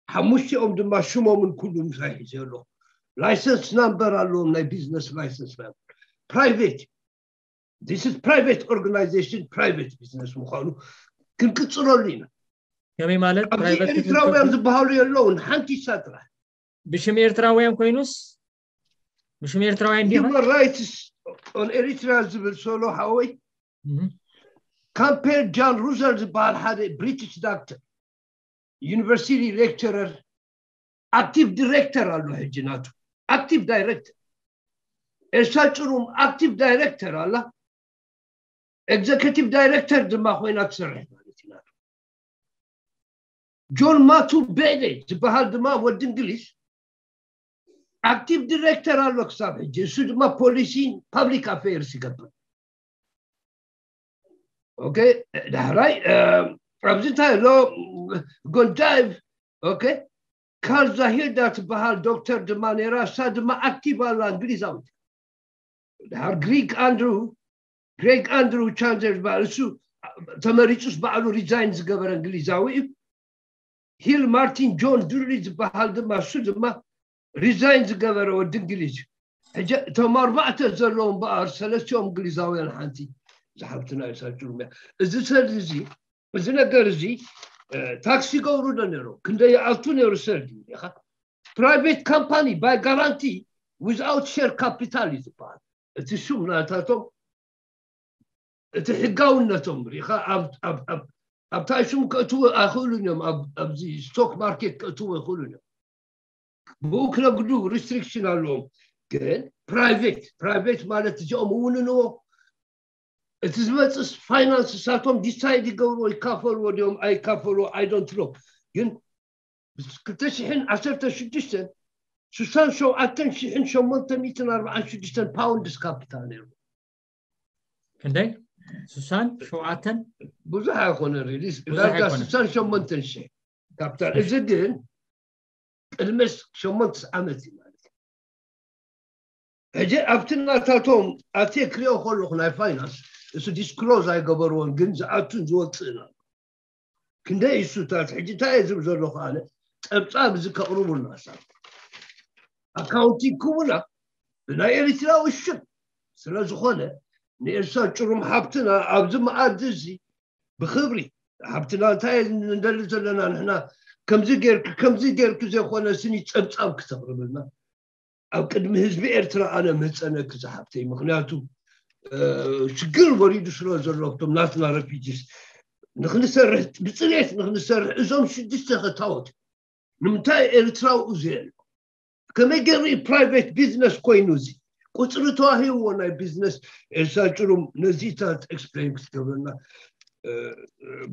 ሓሙሽቲኦም ድማ ሽሞምን ኩሉ ምሳይ ሒዘ ኣለኹ። ላይሰንስ ናምበር ኣለዎም፣ ናይ ቢዝነስ ላይሰንስ ናምበር። ፕራይቬት፣ this is private organization፣ ፕራይቬት ቢዝነስ ምዃኑ ክንቅጽለሉ ኢና። ከመይ ማለት ኣብዚ ፕራይቬት ኤሪትራውያን ክትብል ዝበሃሉ የለውን፣ ሓንቲ እሳ ጥራሕ። ብሽም ኤርትራውያን ኮይኑስ ብሽም ኤርትራውያን ዲኻ? Human Rights on Eritrea ዝብል ሶሎ ሓወይ። እህ። ካምፔል ጃን ሩሰል ዝበሃል ሓደ ብሪቲሽ ዳክተር፣ ዩኒቨርሲቲ ሌክቸረር፣ ኣክቲቭ ዲሬክተር ኣሎ ሕጂ ናቱ። ኣክቲቭ ዳይሬክተር። ኤልሳ ጭሩም ኣክቲቭ ዳይሬክተር ኣላ። ኤግዘኪቲቭ ዳይሬክተር ድማ ኮይና ትሰርሕ ማለት እዩ ናቱ። ጆን ማቱ ቤዴ ዝበሃል ድማ ወዲ እንግሊዝ ኣክቲቭ ዲሬክተር ኣሎ ክሳብ ሕጂ። እሱ ድማ ፖሊሲ ፓብሊክ ኣፌርስ ይገብር። ኦኬ፣ ዳሕራይ፣ እ፣ ኣብዚ እንታይ ኣሎ? ጎንዳይቭ። ኦኬ። ካልዛ ሂልዳ ትበሃል ዶክተር ድማ ነይራ። እሳ ድማ ኣክቲቭ ኣላ፣ እንግሊዛዊት። ድሓር ግሪግ ኣንድሩ ግሬግ ኣንድሩ ቻንዘር ዝበሃል፣ እሱ ተመሪፁስ ባዕሉ ሪዛይን ዝገበረ እንግሊዛዊ እዩ። ሂል ማርቲን ጆን ዱሪ ዝበሃል ድማ፣ እሱ ድማ ሪዛይን ዝገበረ ወዲ እንግሊዝ እዩ። ሕጂ እቶም ኣርባዕተ ዘለዉ እምበኣር ሰለስቲኦም እንግሊዛውያን፣ ሓንቲ ዝሓብትና እዩ ሳጭሩም እያ። እዚ ሰልዲ እዚ እዚ ነገር እዚ ታክሲ ይገብሩ ዶ ነይሩ? ክንደይ ይኣቱ ነይሩ ሰልዲ ኢኻ? ፕራይቬት ካምፓኒ ባይ ጋራንቲ ዊዝኣውት ሼር ካፒታል እዩ ዝበሃል። እቲ ሽም ናታቶም፣ እቲ ሕጋውነቶም ርኢኻ ኣብታይ ሽም ከእትዎ ኣይኽእሉን እዮም። ኣብዚ ስቶክ ማርኬት ከእትዎ ኣይኽእሉን እዮም። ብኡ ክነግዱ ሪስትሪክሽን ኣለዎም። ግን ፕራይቬት ፕራይቬት ማለት እዚኦም እውንንዎ እቲ ዝመፅስ ፋይናንስ እሳቶም ዲሳይድ ይገብርዎ፣ ይካፈልዎ ድዮም ኣይካፈልዎ፣ I don't know። ግን ክልተ ሽሕን ዓሰርተ ሽዱሽተን ስሳን ሸውዓተን ሽሕን ሸሞንተ ሚእትን ኣርባዓን ሽዱሽተን ፓውንድስ ካፒታል ነይሩ። ክንደይ? ስሳን ሸውዓተን? ብዙሕ ኣይኮነ ሪሊስ ዳርጋ ስሳን ሸሞንተን ሽሕ ካፒታል። እዚ ግን ቅድሚ ሸሞንተ ዓመት እዩ ማለት እዩ። ሕጂ ኣብቲ ናታቶም ኣትየ ክሪኦ ከለኹ ናይ ፋይናንስ እሱ ዲስክሎዝ ኣይገበርዎን፣ ግን ዝኣቱን ዝወፅእን ኣሎ። ክንደይ እሱታት ሕጂ እንታይ እየ ዝብል ዘለኹ ኣነ፣ ፀብፃብ እዚ ከቕርቡልና ሳ ኣካውንቲንግ ክቡና ብናይ ኤሪትራዊ ሽም ስለ ዝኾነ ንኤልሳ ጭሩም ሓብትና ኣብዚ መኣዲ እዚ ብክብሪ ሓብትና እንታይ እንደሊ ዘለና ንሕና ከምዚ ጌርክ ከምዚ ጌርክ ዘይኮነ ስኒ ፀብፃብ ክተቕርብልና ኣብ ቅድሚ ህዝቢ ኤርትራ ኣነ ምህፀነኪ ዝሓብተይ። ምክንያቱ ሽግር ወሪዱ ስለ ዘሎ ቶም ናትና ረፊጅስ ንክንሰርሕ ብፅሬት ንክንሰርሕ እዞም ሽዱሽተ ከታወት ንምንታይ ኤርትራዊ ዘየሎ ከመይ ገይሩ ፕራይቬት ቢዝነስ ኮይኑ እዚ ቁፅሪ ተዋሂብዎ ናይ ቢዝነስ ኤልሳ ጭሩም ነዚታት ኤክስፕሌን ክትገብረና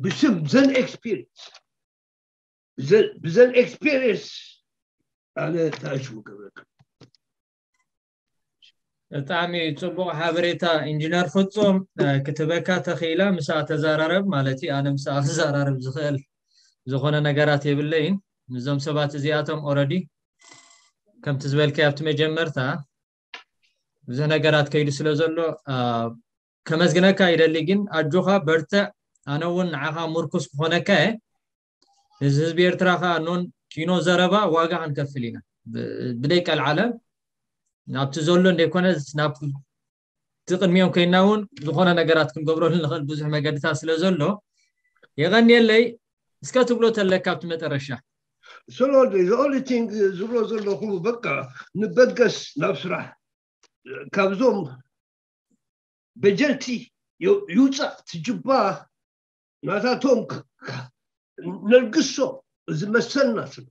ብሽም ዘን ኤክስፒሪንስ ብዘን ኤክስፒሪንስ ኣነ ታሽሙ ገብረክ ብጣዕሚ ፅቡቅ ሓበሬታ ኢንጂነር ፍፁም ክትበካ ተኽኢላ ምሳ ተዘራረብ ማለት እዩ ኣነ ምሳ ክዘራረብ ዝኽእል ዝኾነ ነገራት የብለይን። እዞም ሰባት እዚኣቶም ኦረዲ ከምቲ ዝበልከ ኣብቲ መጀመርታ ብዙሕ ነገራት ከይዱ ስለ ዘሎ ከመስግነካ ይደሊ። ግን ኣጆኻ በርትዕ። ኣነ እውን ንዓኻ ምርኩስ ክኾነካ እየ። እዚ ህዝቢ ኤርትራ ከዓ ኖን ኪኖ ዘረባ ዋጋ ክንከፍል ኢና ብደይ ቀልዓለም ናብቲ ዘሎ እንደይኮነ ናብ እቲ ቅድሚኦም ኮይና እውን ዝኾነ ነገራት ክንገብረሉ ንኽእል ብዙሕ መገድታት ስለ ዘሎ የቐንየለይ። እስከ ትብሎ ተለካ ኣብቲ መጠረሻ ስለ the only thing ዝብሎ ዘለኹ በቃ ንበገስ ናብ ስራሕ ካብዞም በጀልቲ ይውፃእ ትጅባ ናታቶም ነልግሶ እዚ መሰልና ስለ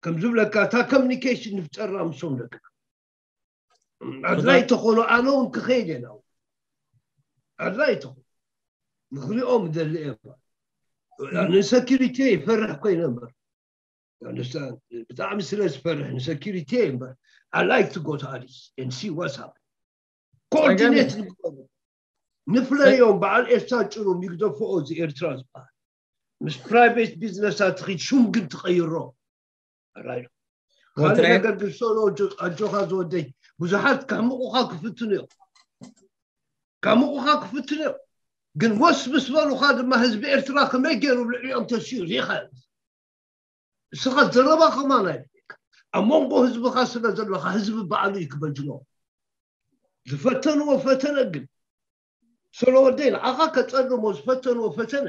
ከም ዝብለካ እታ ኮሚኒኬሽን ንፍጠራ ምሶም ደቅና ኣድላይ ተኾኑ ኣነ እውን ክኸይድ እየ ናብ ኣድላይ ተኾኑ ንክሪኦም ደሊ እየ ንሰኪሪቲ ይፈርሕ ኮይነ እምበር ብጣዕሚ ስለ ዝፈርሕ ንሰኪሪቲ እምበር I like to go to Addis and see what's happening ኮኦርዲኔት ንግበሩ ንፍለዮም በዓል ኤርትራ ጭሩም ይግደፍኦ እዚ ኤርትራ ዝበሃል ምስ ፕራይቬት ቢዝነሳት ትኺድ ሹም ግን ትቐይሮ ኣራዩ ካልእ ነገር ግን ሰሎ ኣጆኻ ዝወደይ ብዙሓት ከሕምቑኻ ክፍትኑ እዮም ከሕምቑኻ ክፍትኑ እዮም ግን ወስ ምስ በሉኻ ድማ ህዝቢ ኤርትራ ከመይ ገይሩ ልዕሊኦም ተሲኡ ሪኢኻ እስኻ ዘረባ ከማን ኣይብለካ ኣብ መንጎ ህዝብኻ ስለ ዘለኻ ህዝቢ ባዕሉ እዩ ክበጅሎ ዝፈተንዎ ፈተነ ግን ሰሎ ወደይ ንዓኻ ከፀልሞ ዝፈተንዎ ፈተነ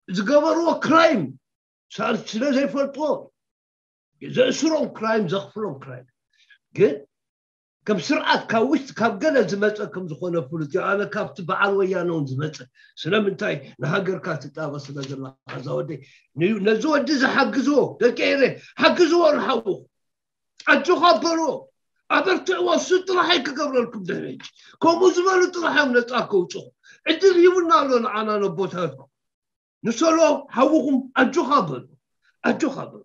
ዝገበርዎ ክራይም ሳር ስለ ዘይፈልጥዎ ዘእስሮም ክራይም ዘኽፍሎም ክራይም ግን ከም ስርዓት ካብ ውሽጢ ካብ ገለ ዝመፀ ከም ዝኾነ ፍሉጥ እዩ ኣነ ካብቲ በዓል ወያነ እውን ዝመፀ ስለምንታይ ንሃገርካ ትጣበ ስለ ዘለካ እዛ ወደይ ነዚ ወዲ ዝሓግዝዎ ደቂ ኤረ ሓግዝዎ ንሓውኹ ኣጆኻ በልዎ ኣበርትዕዎ እሱ ጥራሕ ክገብረልኩም ድሕሪ ከምኡ ዝበሉ ጥራሕ እዮም ነፃ ከውፅኹ ዕድል ሂቡና ኣሎ ንዓና ነቦታትኩም ንሰሎ ሓውኹም ኣጆኻ በሉ ኣጆኻ በሉ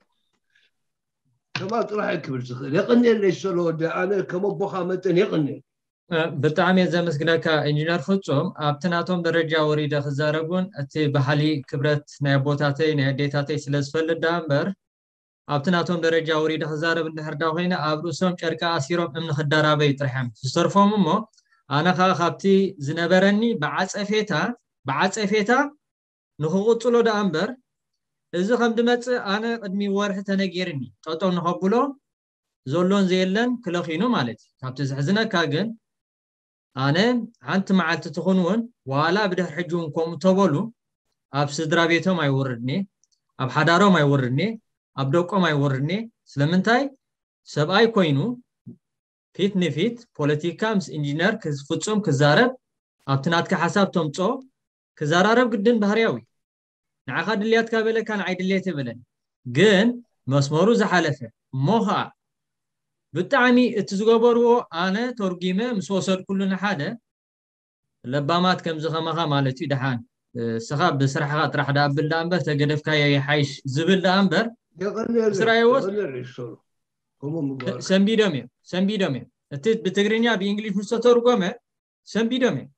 ከማ ጥራሕ ክብል ዝኽእል የቐንየለይ ሰሎ ወዲ ኣነ ከም ኣቦኻ መጠን የቐንየ ብጣዕሚ እየ ዘመስግነካ ኢንጂነር ፍጹም። ኣብቲ ናቶም ደረጃ ወሪደ ክዛረብ እውን እቲ ባህሊ ክብረት ናይ ኣቦታተይ ናይ ኣዴታተይ ስለ ዝፈልጥ ደኣ እምበር፣ ኣብቲ ናቶም ደረጃ ወሪደ ክዛረብ እንድሕር ዳ ኮይነ፣ ኣብ ርእሶም ጨርቂ ኣሲሮም እምኒ ክደራበዩ ጥራሕ እዮም ዝተርፎም። እሞ ኣነ ከዓ ካብቲ ዝነበረኒ ብዓፀፌታ ብዓፀፌታ ንክቕፅሎ ደኣ እምበር፣ እዚ ከም ድመፅእ ኣነ ቅድሚ ወርሒ ተነጊርኒ ጠጠው ንኸብሎ ዘሎን ዘየለን ክለኺኑ ማለት እዩ። ካብቲ ዝሕዝነካ ግን፣ ኣነ ሓንቲ መዓልቲ ትኹን እውን ዋላ ብድሕሪ ሕጂ እውን ከምኡ ተበሉ፣ ኣብ ስድራ ቤቶም ኣይወርድኒ፣ ኣብ ሓዳሮም ኣይወርድኒ፣ ኣብ ደቆም ኣይወርድኒ። ስለምንታይ? ሰብኣይ ኮይኑ ፊት ንፊት ፖለቲካ ምስ ኢንጂነር ክዝ- ፍጹም ክዛረብ፣ ኣብቲ ናትካ ሓሳብ ተምጾ ክዘራረብ ግድን ባህርያዊ። ንዓኻ ድልያትካ በለካ፣ ንዓይ ድልየት የበለን። ግን መስመሩ ዝሓለፈ እሞ ኸዓ ብጣዕሚ እቲ ዝገበርዎ ኣነ ተርጒመ ምስ ወሰድኩሉ ንሓደ ለባማት ከምዚ ከማኻ ማለት እዩ። ደሓን እስኻ ብስራሕኻ ጥራሕ ደኣ ብል ደኣ እምበር፣ ተገደፍካዮ ይሓይሽ ዝብል ደኣ እምበር፣ እስራኤዎስ ሰንቢዶም እዮም፣ ሰንቢዶም እዮም። እቲ ብትግርኛ ብእንግሊሽ ምስ ተተርጎመ ሰንቢዶም እዮም።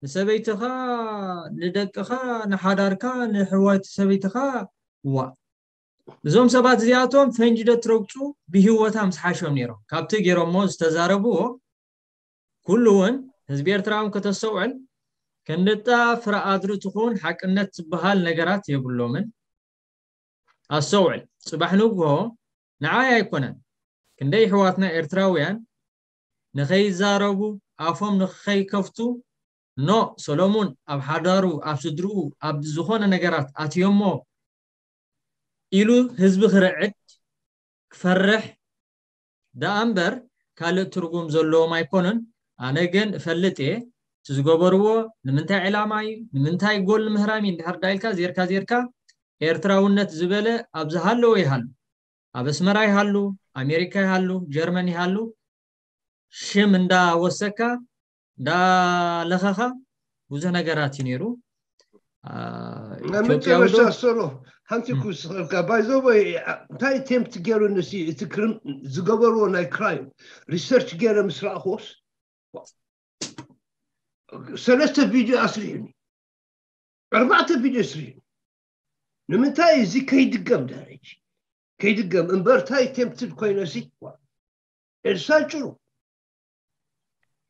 ንሰበይትኻ፣ ንደቅኻ፣ ንሓዳርካ፣ ንሕዋይቲ ሰበይትኻ፣ ዋ እዞም ሰባት እዚኣቶም ፈንጂ ዶ ትረግፁ ብህይወታ ምስ ሓሾም ነይሮም። ካብቲ ገይሮሞ ዝተዛረብዎ ኩሉ እውን ህዝቢ ኤርትራ እውን ከተስተውዕል፣ ክንድጣ ፍረ ኣድሪ ትኹን ሓቅነት ዝበሃል ነገራት የብሎምን። ኣስተውዕል፣ ጽባሕ ንግሆ ንዓይ ኣይኮነን፣ ክንደይ ኣሕዋትና ኤርትራውያን ንኸይዛረቡ፣ ኣፎም ንኸይከፍቱ፣ ኖ ሰሎሙን ኣብ ሓዳሩ፣ ኣብ ስድርኡ፣ ኣብ ዝኾነ ነገራት ኣትዮሞ ኢሉ ህዝቢ ክርዕድ ክፈርሕ ደኣ እምበር ካልእ ትርጉም ዘለዎም ኣይኮኑን። ኣነ ግን እፈልጥ እየ እቲ ዝገበርዎ ንምንታይ ዕላማ እዩ፣ ንምንታይ ጎል ንምህራም እዩ እንድሕር ዳ ኢልካ ዜርካ ዜርካ ኤርትራውነት ዝበለ ኣብ ዝሃለወ ይሃሉ፣ ኣብ ኣስመራ ይሃሉ፣ ኣሜሪካ ይሃሉ፣ ጀርመን ይሃሉ፣ ሽም እንዳወሰካ እንዳለኸኻ ብዙሕ ነገራት እዩ ነይሩ። ናይ መጨረሻ ሰሎ ሓንቲ ክውስኸልካ። ባይዘወይ እንታይ ቴምፕት ገይሩ ንሲ እቲ ክርም ዝገበርዎ ናይ ክራይም ሪሰርች ገይረ ምስ ረኣኽዎስ ሰለስተ ቪድዮ ኣስሪሑኒ፣ ኣርባዕተ ቪድዮ ኣስሪሑኒ። ንምንታይ እዚ ከይድገም ደረጅ ከይድገም እምበርታይ ቴምፕትድ ኮይነሲ ኤልሳ ጭሩ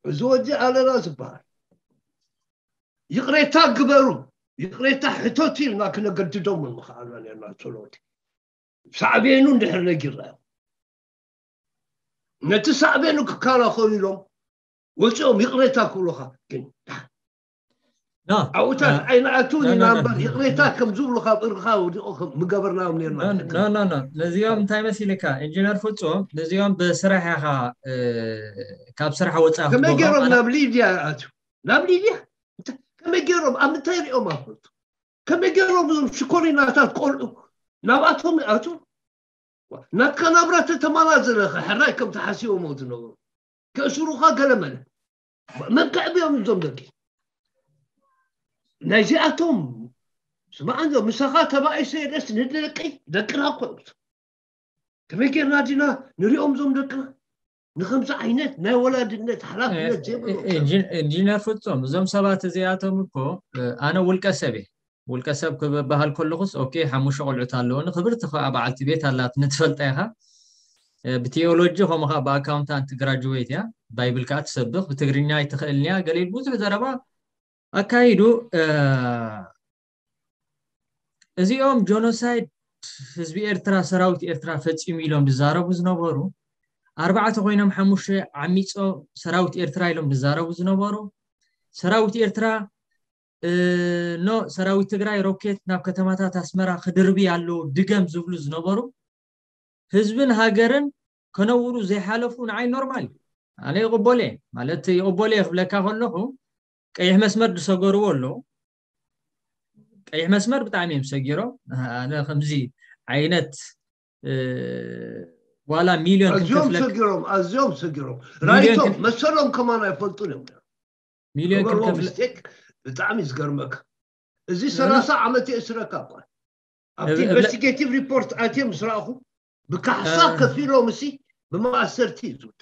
እዚ ወዲ ኣለና ዝበሃል ይቕሬታ ግበሩ፣ ይቕሬታ ሕተቱ ኢልና ክነገድዶም ምኽኣልና ነርና። ሶሎቲ ሳዕቤኑ እንድሕር ነጊርናዮ ነቲ ሳዕቤኑ ክከላኸሉ ኢሎም ወፂኦም ይቕሬታ ክብሉኻ ግን ኣብኡታት ኣይንኣትውን ኢና እምበር ይቕሬታ ከም ዝብሉ ካብ እርኻ ወዲቑ ምገበርናዮም ነርና። ነዚኦም እንታይ መሲልካ ኢንጂነር ፍፁም፣ ነዚኦም ብስራሕ ኢኻ ካብ ስራሕ ወፃ ከመይ ገይሮም ናብ ሊድያ ይኣትዩ? ናብ ሊድያ ከመይ ገይሮም ኣብ ምንታይ ሪኦም ኣፈልጡ? ከመይ ገይሮም እዞም ሽኮሪናታት ቆልዑ ናብኣቶም ይኣትዉ? ናትካ ናብራ ተተማላ ዘለኸ ሕራይ ከም ተሓሲቦሞ ዝነበሩ ከእስሩኻ ገለመለ መን ከዕብዮም እዞም ደቂ ናይዚኣቶም ስማዕ እንዶ ምሳኻ ተባኢሰ የለስ ንደቂ ደቅና እኮ እዮም። ከመይ ጌርና ዲና ንሪኦም እዞም ደቅና ንከምዚ ዓይነት ናይ ወላድነት ሓላፍነት ዘይብሎም ኢንጂነር ፍጹም እዞም ሰባት እዚኣቶም እኮ ኣነ ውልቀ ሰብ እየ ውልቀ ሰብ ክበሃል ከለኹስ ኦኬ ሓሙሽተ ቆልዑት ኣለወኒ ክብርቲ ከዓ በዓልቲ ቤት ኣላትኒ ትፈልጣ ኢኻ ብቴዎሎጂ ከምኡ ከዓ ብኣካውንታንት ግራጅዌት እያ ባይብል ከዓ ትሰብኽ ብትግርኛ ኣይትኽእልን እያ ገለ ኢሉ ብዙሕ ዘረባ ኣካይዱ እዚኦም ጆኖሳይድ ህዝቢ ኤርትራ ሰራዊት ኤርትራ ፈፂሙ ኢሎም ዝዛረቡ ዝነበሩ ኣርባዕተ ኮይኖም ሓሙሽተ ዓሚፆም ሰራዊት ኤርትራ ኢሎም ዝዛረቡ ዝነበሩ ሰራዊት ኤርትራ ኖ ሰራዊት ትግራይ ሮኬት ናብ ከተማታት ኣስመራ ክድርቢ ኣለዎ ድገም ዝብሉ ዝነበሩ ህዝብን ሃገርን ከነውሩ ዘይሓለፉ ንዓይ ኖርማል እዩ ኣነ ይቕበሎ እየ ማለት ይቕበሎ እየ ክብለካ ከለኹ ቀይሕ መስመር ዝሰገርዎ ኣለዉ ቀይሕ መስመር ብጣዕሚ እዮም ሰጊሮም ኣነ ከምዚ ዓይነት ዋላ ሚሊዮን ክንከፍለካ ኣዝዮም ሰጊሮም ራይቶም መሰሎም ከማን ኣይፈልጡን እዮም ሚሊዮን ክንከፍለ ብጣዕሚ ዝገርመካ እዚ ሰላሳ ዓመት የእስረካ እኳ ኣብቲ ኢንቨስቲጌቲቭ ሪፖርት ኣትየ ምስ ረኣኹ ብካሕሳ ከፊሎም እሲ ብማእሰርቲ እዩ ዝውታ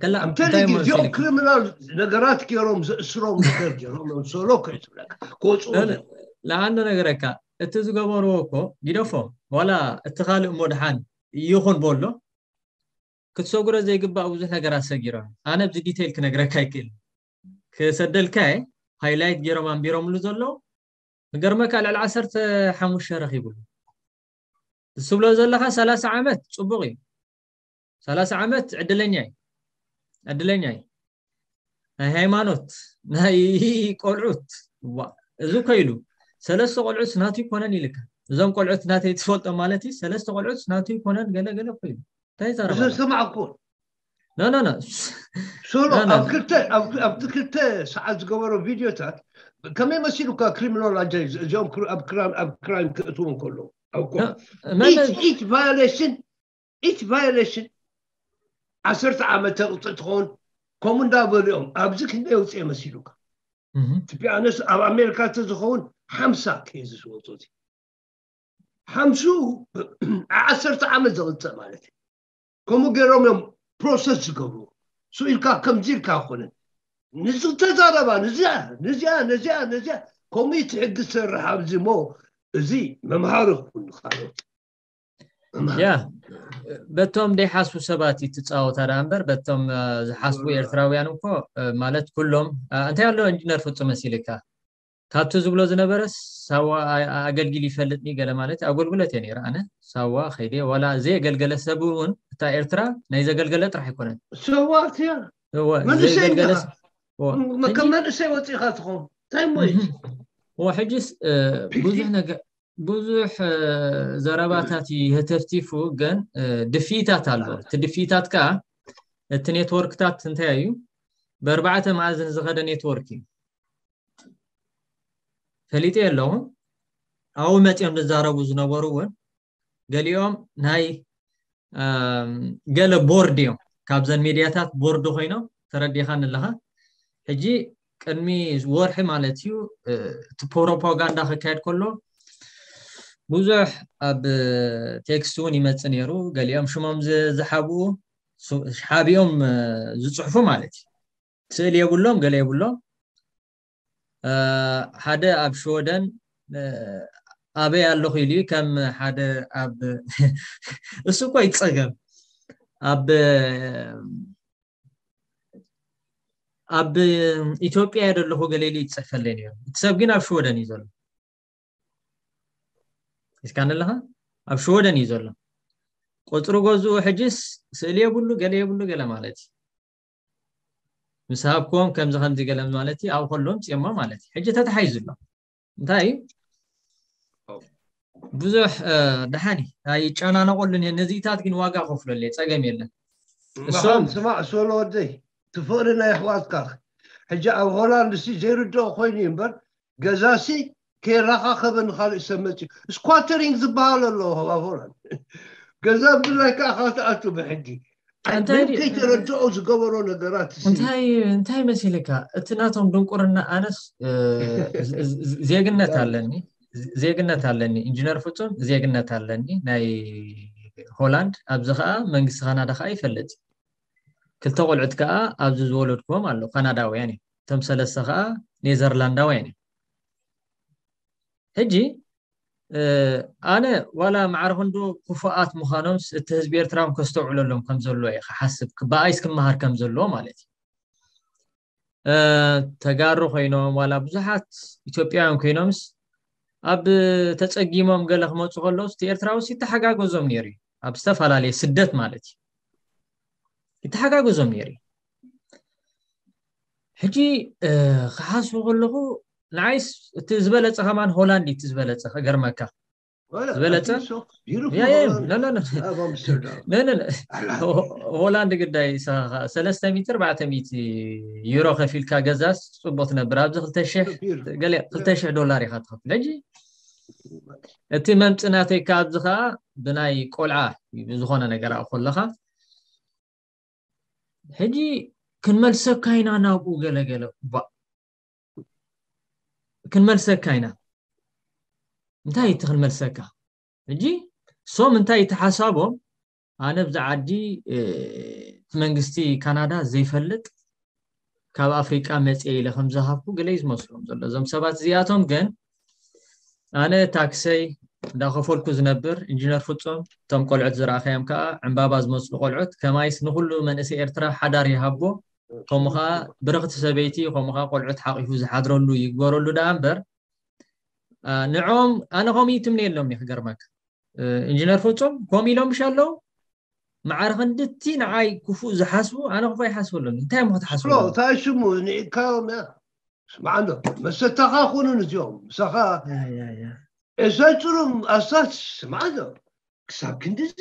ከላ ኣምተን እንታይ ግዜኦም መሲልካ? ክሪሚናል ነገራት ገይሮም ዘእስሮም ነገር ገይሮም እዮም ሶሎ ከይትብለካ ክወፅኡ ለ- ለአንድ ነገር እካ እቲ ዝገበርዎ እኮ ግደፎ ዋላ እቲ ካልእ እሞ ድሓን ይኹን በሎ ክትሰጉረ ዘይግባእ ብዙሕ ነገራት ሰጊሮም ኣነ ኣብዚ ዲቴይል ክነግረካ ኣይክእል ክሰደልካ ሃይላይት ገይሮም ኣንቢሮምሉ ዘለዉ ንገርመካ ልዕሊ ዓሰርተ ሓሙሽተ ረኺብሉ ዝስብሎ ዘለካ ሰላሳ ዓመት ፅቡቅ እዩ ሰላሳ ዓመት ዕድለኛ እዩ ዕድለኛ እዩ ናይ ሃይማኖት ናይ ቆልዑት ዋ እዚ እኮ ኢሉ ሰለስተ ቆልዑት ናቱ ይኮነን ኢልካ እዞም ቆልዑት ናተይ ትፈልጦ ማለት እዩ ሰለስተ ቆልዑት ናቱ ይኮነን ገለገለ እኮ ኢሉ እንታይ እዚ ይዛረባ ሰማዕኩ ኖ ኖ ኖ ሶሎ ኖ፣ ኖ። ኣብ ክልተ ኣብ- ኣብቲ ክልተ ሰዓት ዝገበሮ ቪዲዮታት ከመይ መሲሉካ ክሪሚኖሎጂ እዚኦም ክር- ኣብ ክራም ኣብ ክራይም ክእትዎም ከሎ ኣብ ኮ- መን each each violation each violation ዓሰርተ ዓመት ተቕፅእ ትኸውን ከምኡ እንዳበሉ እዮም ኣብዚ ክንደይ የውፅኤ መሲሉካ እህ፣ ትቢያነስ ኣብ ኣሜሪካ ተዝኸውን ሓምሳ ኬዝስ ወፁ ሓምሱ ዓሰርተ ዓመት ዘቕፅእ ማለት እዩ ከምኡ ገይሮም እዮም ፕሮሰስ ዝገብሩ ሱ ኢልካ ከምዚ ኢልካ ኣይኮነን ንዚ ተዛረባ ንዚኣ ነዚኣ ነዚኣ ነዚኣ ከምኡ እዩ ትሕጊ ዝሰርሕ ኣብዚ እሞ እዚ መምሃሪ ክኹን ካልኦት መምሃሪ ያ በቶም ደይሓስቡ ሰባት እዩ ትፃወታ ደኣ እምበር በቶም እ፣ ዝሓስቡ ኤርትራውያን እኮ እ፣ ማለት ኩሎም እ፣ እንታይ ኣሎ ኢንጂነር ፍጹም መሲልካ ካብቲ ዝብሎ ዝነበረ ሳዋ ኣ- ኣገልጊል ይፈልጥኒ ገለ ማለት ኣገልግሎት እየ ነይረ ኣነ ሳዋ ከይደ ዋላ ዘየገልገለ ሰብ እውን እታ ኤርትራ ናይ ዘገልገለ ጥራሕ ኣይኮነን ሰዋት እያ እወ መንእሰይ ዘየገልገለ እንዲኻ። ስ- እወ። ሕጂ- ከም መንእሰይ ወፂእኻ ትኸውን እንታይ ሞይ እህ። እወ ሕጂስ እ፣ ብዙሕ ነገር ብዙሕ እ፣ ዘረባታት ይህተፍቲፉ ግን እ፣ ድፍኢታት ኣሎ እቲ ድፍኢታት ከዓ እቲ ኔትወርክታት እንታይ እዩ ብኣርባዕተ መኣዝን ዝኸደ ኔትወርክ እዩ ፈሊጠ ኣለኹ ኣብኡ መፂኦም ዝዛረቡ ዝነበሩ እውን ገሊኦም ናይ እም፣ ገለ ቦርድ እዮም ካብዘን ሚድያታት ቦርድ ኮይኖም ተረዲኻን ኣለኻ ሕጂ ቅድሚ ወርሒ ማለት እዩ እ፣ እቲ ፕሮፓጋንዳ ክካየድ ከሎ ብዙሕ ኣብ ቴክስት እውን ይመፅእ ነይሩ ገሊኦም ሽሞም ዝ- ዝሓብኡ ሱ- ሓቢኦም እ፣ ዝፅሕፉ ማለት እዩ ስእሊ የብሎም ገለ የብሎም እ፣ ሓደ ኣብ ሽወደን እ፣ ኣበይ ኣለኹ ኢሉ እዩ ከም ሓደ ኣብ እሱ እኮ ይፀገም ኣብ ኣብ ኢትዮጵያ እየ ዘለኹ ገለ ኢሉ ይፅሕፈለይ ነይሩ እቲ ሰብ ግን ኣብ ሽወደን እዩ ዘሎ እስካ ኣለኻ ኣብ ሽወደን እዩ ዘሎ ቁፅሪ ገዝኡ ሕጅስ ስእሊ የብሉ ገለ የብሉ ገለ ማለት እዩ ምስ ሃብክዎም ከምዚ ከምዚ ገለ ማለት እዩ ኣብ ከሎም ፅሞ ማለት እዩ ሕጂ ተተሓይዙ ኣሎ እንታይ እዩ ብዙሕ እ፣ ደሓን እዩ ኣይጨናነቆሉን እየ ነዚታት ግን ዋጋ ከፍለሉ እየ ፀገም የለን እሶም ስማዕ ሶሎ ወደይ ትፍቕሪ ናይ ኣሕዋትካ ሕጂ ኣብ ሆላንድ ሲ ዘይርድኦ ኮይኑ እዩ እምበር ገዛሲ ከይራኻኸበ ንካልእ ሰብ መፅኡ ስኳተሪንግ ዝበሃል ኣሎ ኣብ ሆላንድ ገዛ ብድላይ ከዓ ካብ ትኣቱ ብሕጊ እንታይ ምንም ከይተረድኦ ዝገበሮ ነገራት ሲ እንታይ እንታይ መሲልካ እቲ ናቶም ድንቁርና ኣነስ እ፣ ዝ- ዝ- ዜግነት ኣለኒ ዜግነት ኣለኒ ኢንጂነር ፍጹም ዜግነት ኣለኒ ናይ ሆላንድ ኣብዚ ከዓ መንግስቲ ካናዳ ከዓ ይፈልጥ ክልተ ቆልዑት ከዓ ኣብዚ ዝወለድክዎም ኣሎ ካናዳውያን እዮም እቶም ሰለስተ ከዓ ኔዘርላንዳውያን እዮም ሕጂ እ፣ ኣነ ዋላ ማዕረ ክንዱ ክፉኣት ምዃኖምስ እቲ ህዝቢ ኤርትራ እውን ከስተውዕለሎም ከም ዘለዎ እየ ክሓስብ ብኣይስ ክመሃር ከም ዘለዎ ማለት እዩ እ፣ ተጋሩ ኮይኖም ዋላ ብዙሓት ኢትዮጵያውያን ኮይኖምስ ኣብ ተፀጊሞም ገለ ክመፁ ከለውስ እቲ ኤርትራዊ ሲ ይተሓጋገዞም ነይሩ እዩ ኣብ ዝተፈላለየ ስደት ማለት እዩ ይተሓጋገዞም ነይሩ እዩ ሕጂ እ፣ ክሓስቡ ከለኹ ንዓይስ እቲ ዝበለፀ ከማን ሆላንድ እዩ እቲ ዝበለፀ ከገርመካ ዝበለፀ ያ ያ ኖ ኖ ኖ ኖ ኖ ሆላንድ ግዳይ ሰለስተ ሚእቲ ኣርባዕተ ሚእቲ ዩሮ ከፊልካ ገዛስ ፅቡቅ ትነብር ኣብዚ ክልተ ሽሕ ገለ ክልተ ሽሕ ዶላር ኢካ ትኸፍል ሕጂ እቲ መምፅእ ናተይ ካብዚ ከዓ ብናይ ቆልዓ እዩ ዝኾነ ነገር ኣብኡ ከለካ ሕጂ ክንመልሰካ ኢና ናብኡ ገለገለ ባ ክንመልሰካ ኢና እንታይ እቲ ክንመልሰካ ሕጂ ሶም እንታይ እቲ ሓሳቦም ኣነ ብዛ ዓዲ እ፣ መንግስቲ ካናዳ ዘይፈልጥ ካብ ኣፍሪቃ መፅየ ኢለ ከም ዝሃብኩ ገለ እዩ ዝመስሎም ዘሎ። እዞም ሰባት እዚኣቶም ግን ኣነ ታክሰይ እንዳኸፈልኩ ዝነብር ኢንጂነር ፍጹም፣ እቶም ቆልዑት ዝረኣኸዮም ከዓ ዕምባባ ዝመስሉ ቆልዑት፣ ከማይስ ንኩሉ መንእሰይ ኤርትራ ሓዳር ይሃቦ፣ ከምኡ ከዓ ብርኽቲ ሰበይቲ፣ ከምኡ ከዓ ቆልዑት ሓቂፉ ዝሓድረሉ ይግበረሉ ደኣ እምበር፣ ንዖም ኣነ ከምኡ ይትምነየሎም እየ። ክገርመካ ኢንጂነር ፍጹም ከምኡ ኢሎም ምሽ ኣለዉ። ማዕረ ክንድቲ ንዓይ ክፉእ ዝሓስቡ ኣነ ክፉእ ይሓስበሎም። እንታይ እሞ ክትሓስበሎም? እንታይ ሽሙ ንኢድካዮም እያ። ስማዕ እንዶ መሰታኻ ኩኑ ንዚኦም ምሳኻ ኤሳይ ጭሩም ኣሳት ስማዕ እንዶ ክሳብ ክንድዚ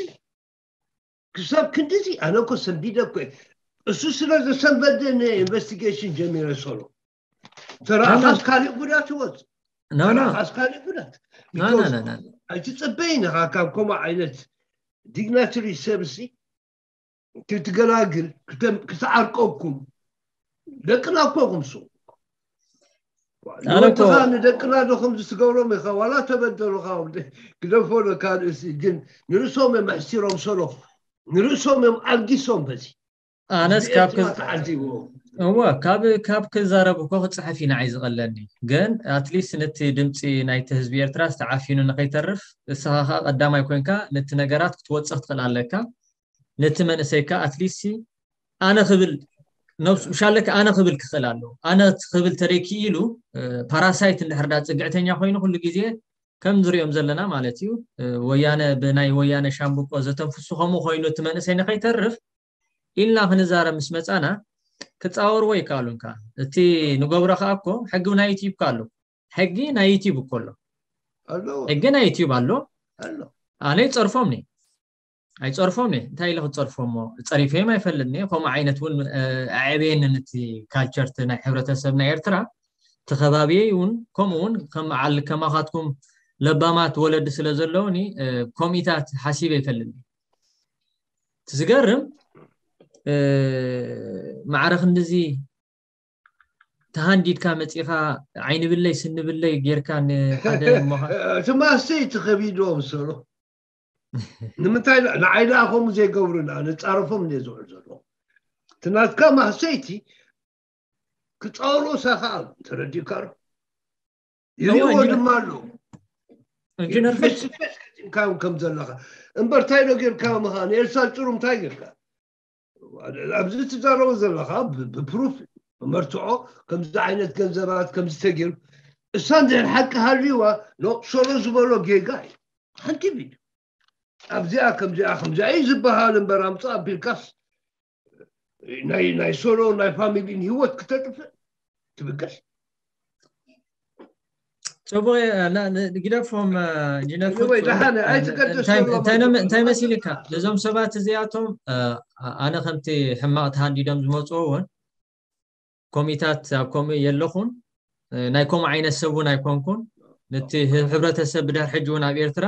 ክሳብ ክንድዚ ኣነ እኮ ሰንቢደ እኮ እሱ ስለ ዘሰንበደ ኢንቨስቲጌሽን ጀሚረ ሰሎ ተራእኻስ ካልእ ጉዳት ይወፅ ተራእኻስ ካልእ ጉዳት ኣይትፅበይን ኢኻ ካብ ከምኡ ዓይነት ዲግናትሪ ሰብሲ ክትገላግል ክትዓርቀኩም ደቅና እኮ ኩምሱ ንወድኻ ንደቅና ዶ ከምዚ ትገብሮም ኢኻ ዋላ ተበደሉኻ ግደፎ ካልእሲ ግን ንርእሶም እዮም ኣሕሲሮም ሰሎ ንርእሶም እዮም ኣልጊሶም በዚ ኣነስ ካብ ተዓዚቦ እወ ካብ ካብ ክዛረብ እኮ ክፅሕፍ ኢና እዩ ዝቐለኒ ግን ኣትሊስት ነቲ ድምፂ ናይቲ ህዝቢ ኤርትራ ዝተዓፊኑ ንኸይተርፍ እስኻ ከዓ ቀዳማይ ኮይንካ ነቲ ነገራት ክትወፅእ ክትኽእል ኣለካ ነቲ መንእሰይካ ኣትሊስት ኣነ ክብል ነብሱ ምሻለካ ኣነ ክብል ክኽእል ኣለዎ ኣነ ክብል ተደኪ ኢሉ ፓራሳይት እንድሕር ዳ ፅግዕተኛ ኮይኑ ኩሉ ግዜ ከም ንሪኦም ዘለና ማለት እዩ ወያነ ብናይ ወያነ ሻምብቆ ዘተንፍሱ ከምኡ ኮይኑ እቲ መንእሰይ ንኸይተርፍ ኢልና ክንዛረብ ምስ መፃና ክፃወርዎ ይከኣሉን ከዓ እቲ ንገብሮ ከዓ እኮ ሕጊ ናይ ዩቲዩብ ከዓ ኣሎ ሕጊ ናይ ዩቲዩብ እኮ ኣሎ ሕጊ ናይ ዩቲዩብ ኣሎ ኣነ ይፀርፎም ኒ ኣይፀርፎም ኒ እንታይ ኢለ ክፀርፎ እሞ ፀሪፈዮም ኣይፈልጥኒ ከምኡ ዓይነት እውን ኣዕበየንን እቲ ካልቸር ናይ ሕብረተሰብ ናይ ኤርትራ ተኸባቢየ እውን ከምኡ እውን ከም ዓል ከማኻትኩም ለባማት ወለዲ ስለ ዘለውኒ ከምኢታት ሓሲበ ይፈልኒ እቲ ዝገርም ማዕረ ክንድዚ ተሃንዲድካ መፂኻ ዓይኒ ብለይ ስኒ ብለይ ጌርካ ንሓደ እሞ እቲ ማስተይ እቲ ከቢድዎም ሰሎ ንምንታይ ንዓይ ደኣ ከምኡ ዘይገብሩና ንፃረፎም እንደ ዝውዕል ዘሎ እቲ ናትካ ማህሰይቲ ክፃወሮ ሳኻ ተረዲእካ ዶ ይሪእዎ ድማ ኣሎ ኢንጂነር ፌስ ቱ ፌስ ገጢምካዮም ከም ዘለኻ እምበር እንታይ ዶ ጌርካዮም ኢኻ ንኤልሳ ጭሩ እንታይ ጌርካ ኣብዚ ትዛረቦ ዘለኻ ብፕሩፍ ብመርትዖ ከምዚ ዓይነት ገንዘባት ከምዚ ተገይሩ እሳ እንድሕር ሓቂ ሃልዩዋ ኖ ሶሎ ዝበሎ ጌጋ እዩ ሓንቲ ቢል ኣብዚኣ ከምዚኣ ከምዚኣ እዩ ዝበሃል እምበር ኣምፅእ ኣቢልካስ ናይ ናይ ሶሎ ናይ ፋሚሊን ህይወት ክተጥፍእ ትብገስ ጽቡቅ ግደፎም ኢንጂነር እንታይ መሲልካ ነዞም ሰባት እዚኣቶም ኣነ ከምቲ ሕማቅ ተሃንዲዶም ዝመፅዎ እውን ኮሚታት ኣብ ከምኡ የለኹን ናይ ከምኡ ዓይነት ሰብ እውን ኣይኮንኩን ነቲ ሕብረተሰብ ብድሕር ሕጂ እውን ኣብ ኤርትራ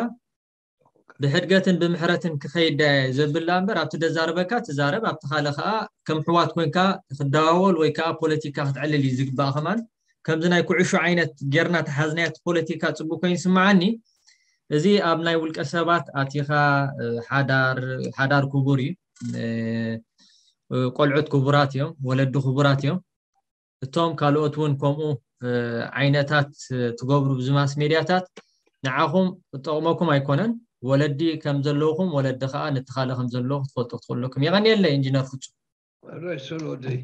ብሕድገትን ብምሕረትን ክኸይድ ዘብላ እምበር ኣብቲ ደዛርበካ ትዛረብ ኣብቲ ካልእ ከዓ ከም ሕዋት ኮንካ ክደዋወል ወይ ከዓ ፖለቲካ ክትዕልል እዩ ዝግባእ ከማን ከምዚ ናይ ኩዕሾ ዓይነት ጌርና ተሓዝናዮ እቲ ፖለቲካ ፅቡቅ ኮይኑ ይስምዓኒ እዚ ኣብ ናይ ውልቀ ሰባት ኣቲኻ ሓዳር ሓዳር ክቡር እዩ ቆልዑት ክቡራት እዮም ወለዲ ክቡራት እዮም እቶም ካልኦት እውን ከምኡ ዓይነታት ትገብሩ ብዚ ማስ ሜድያታት ንዓኹም ክጠቕመኩም ኣይኮነን ወለዲ ከም ዘለውኹም ወለዲ ከዓ ንትኻለ ከም ዘለዎ ክትፈልጡ ክትኽእለኩም የቐንየለ ኢንጂነር ፍጹም ራይ ሰሎደይ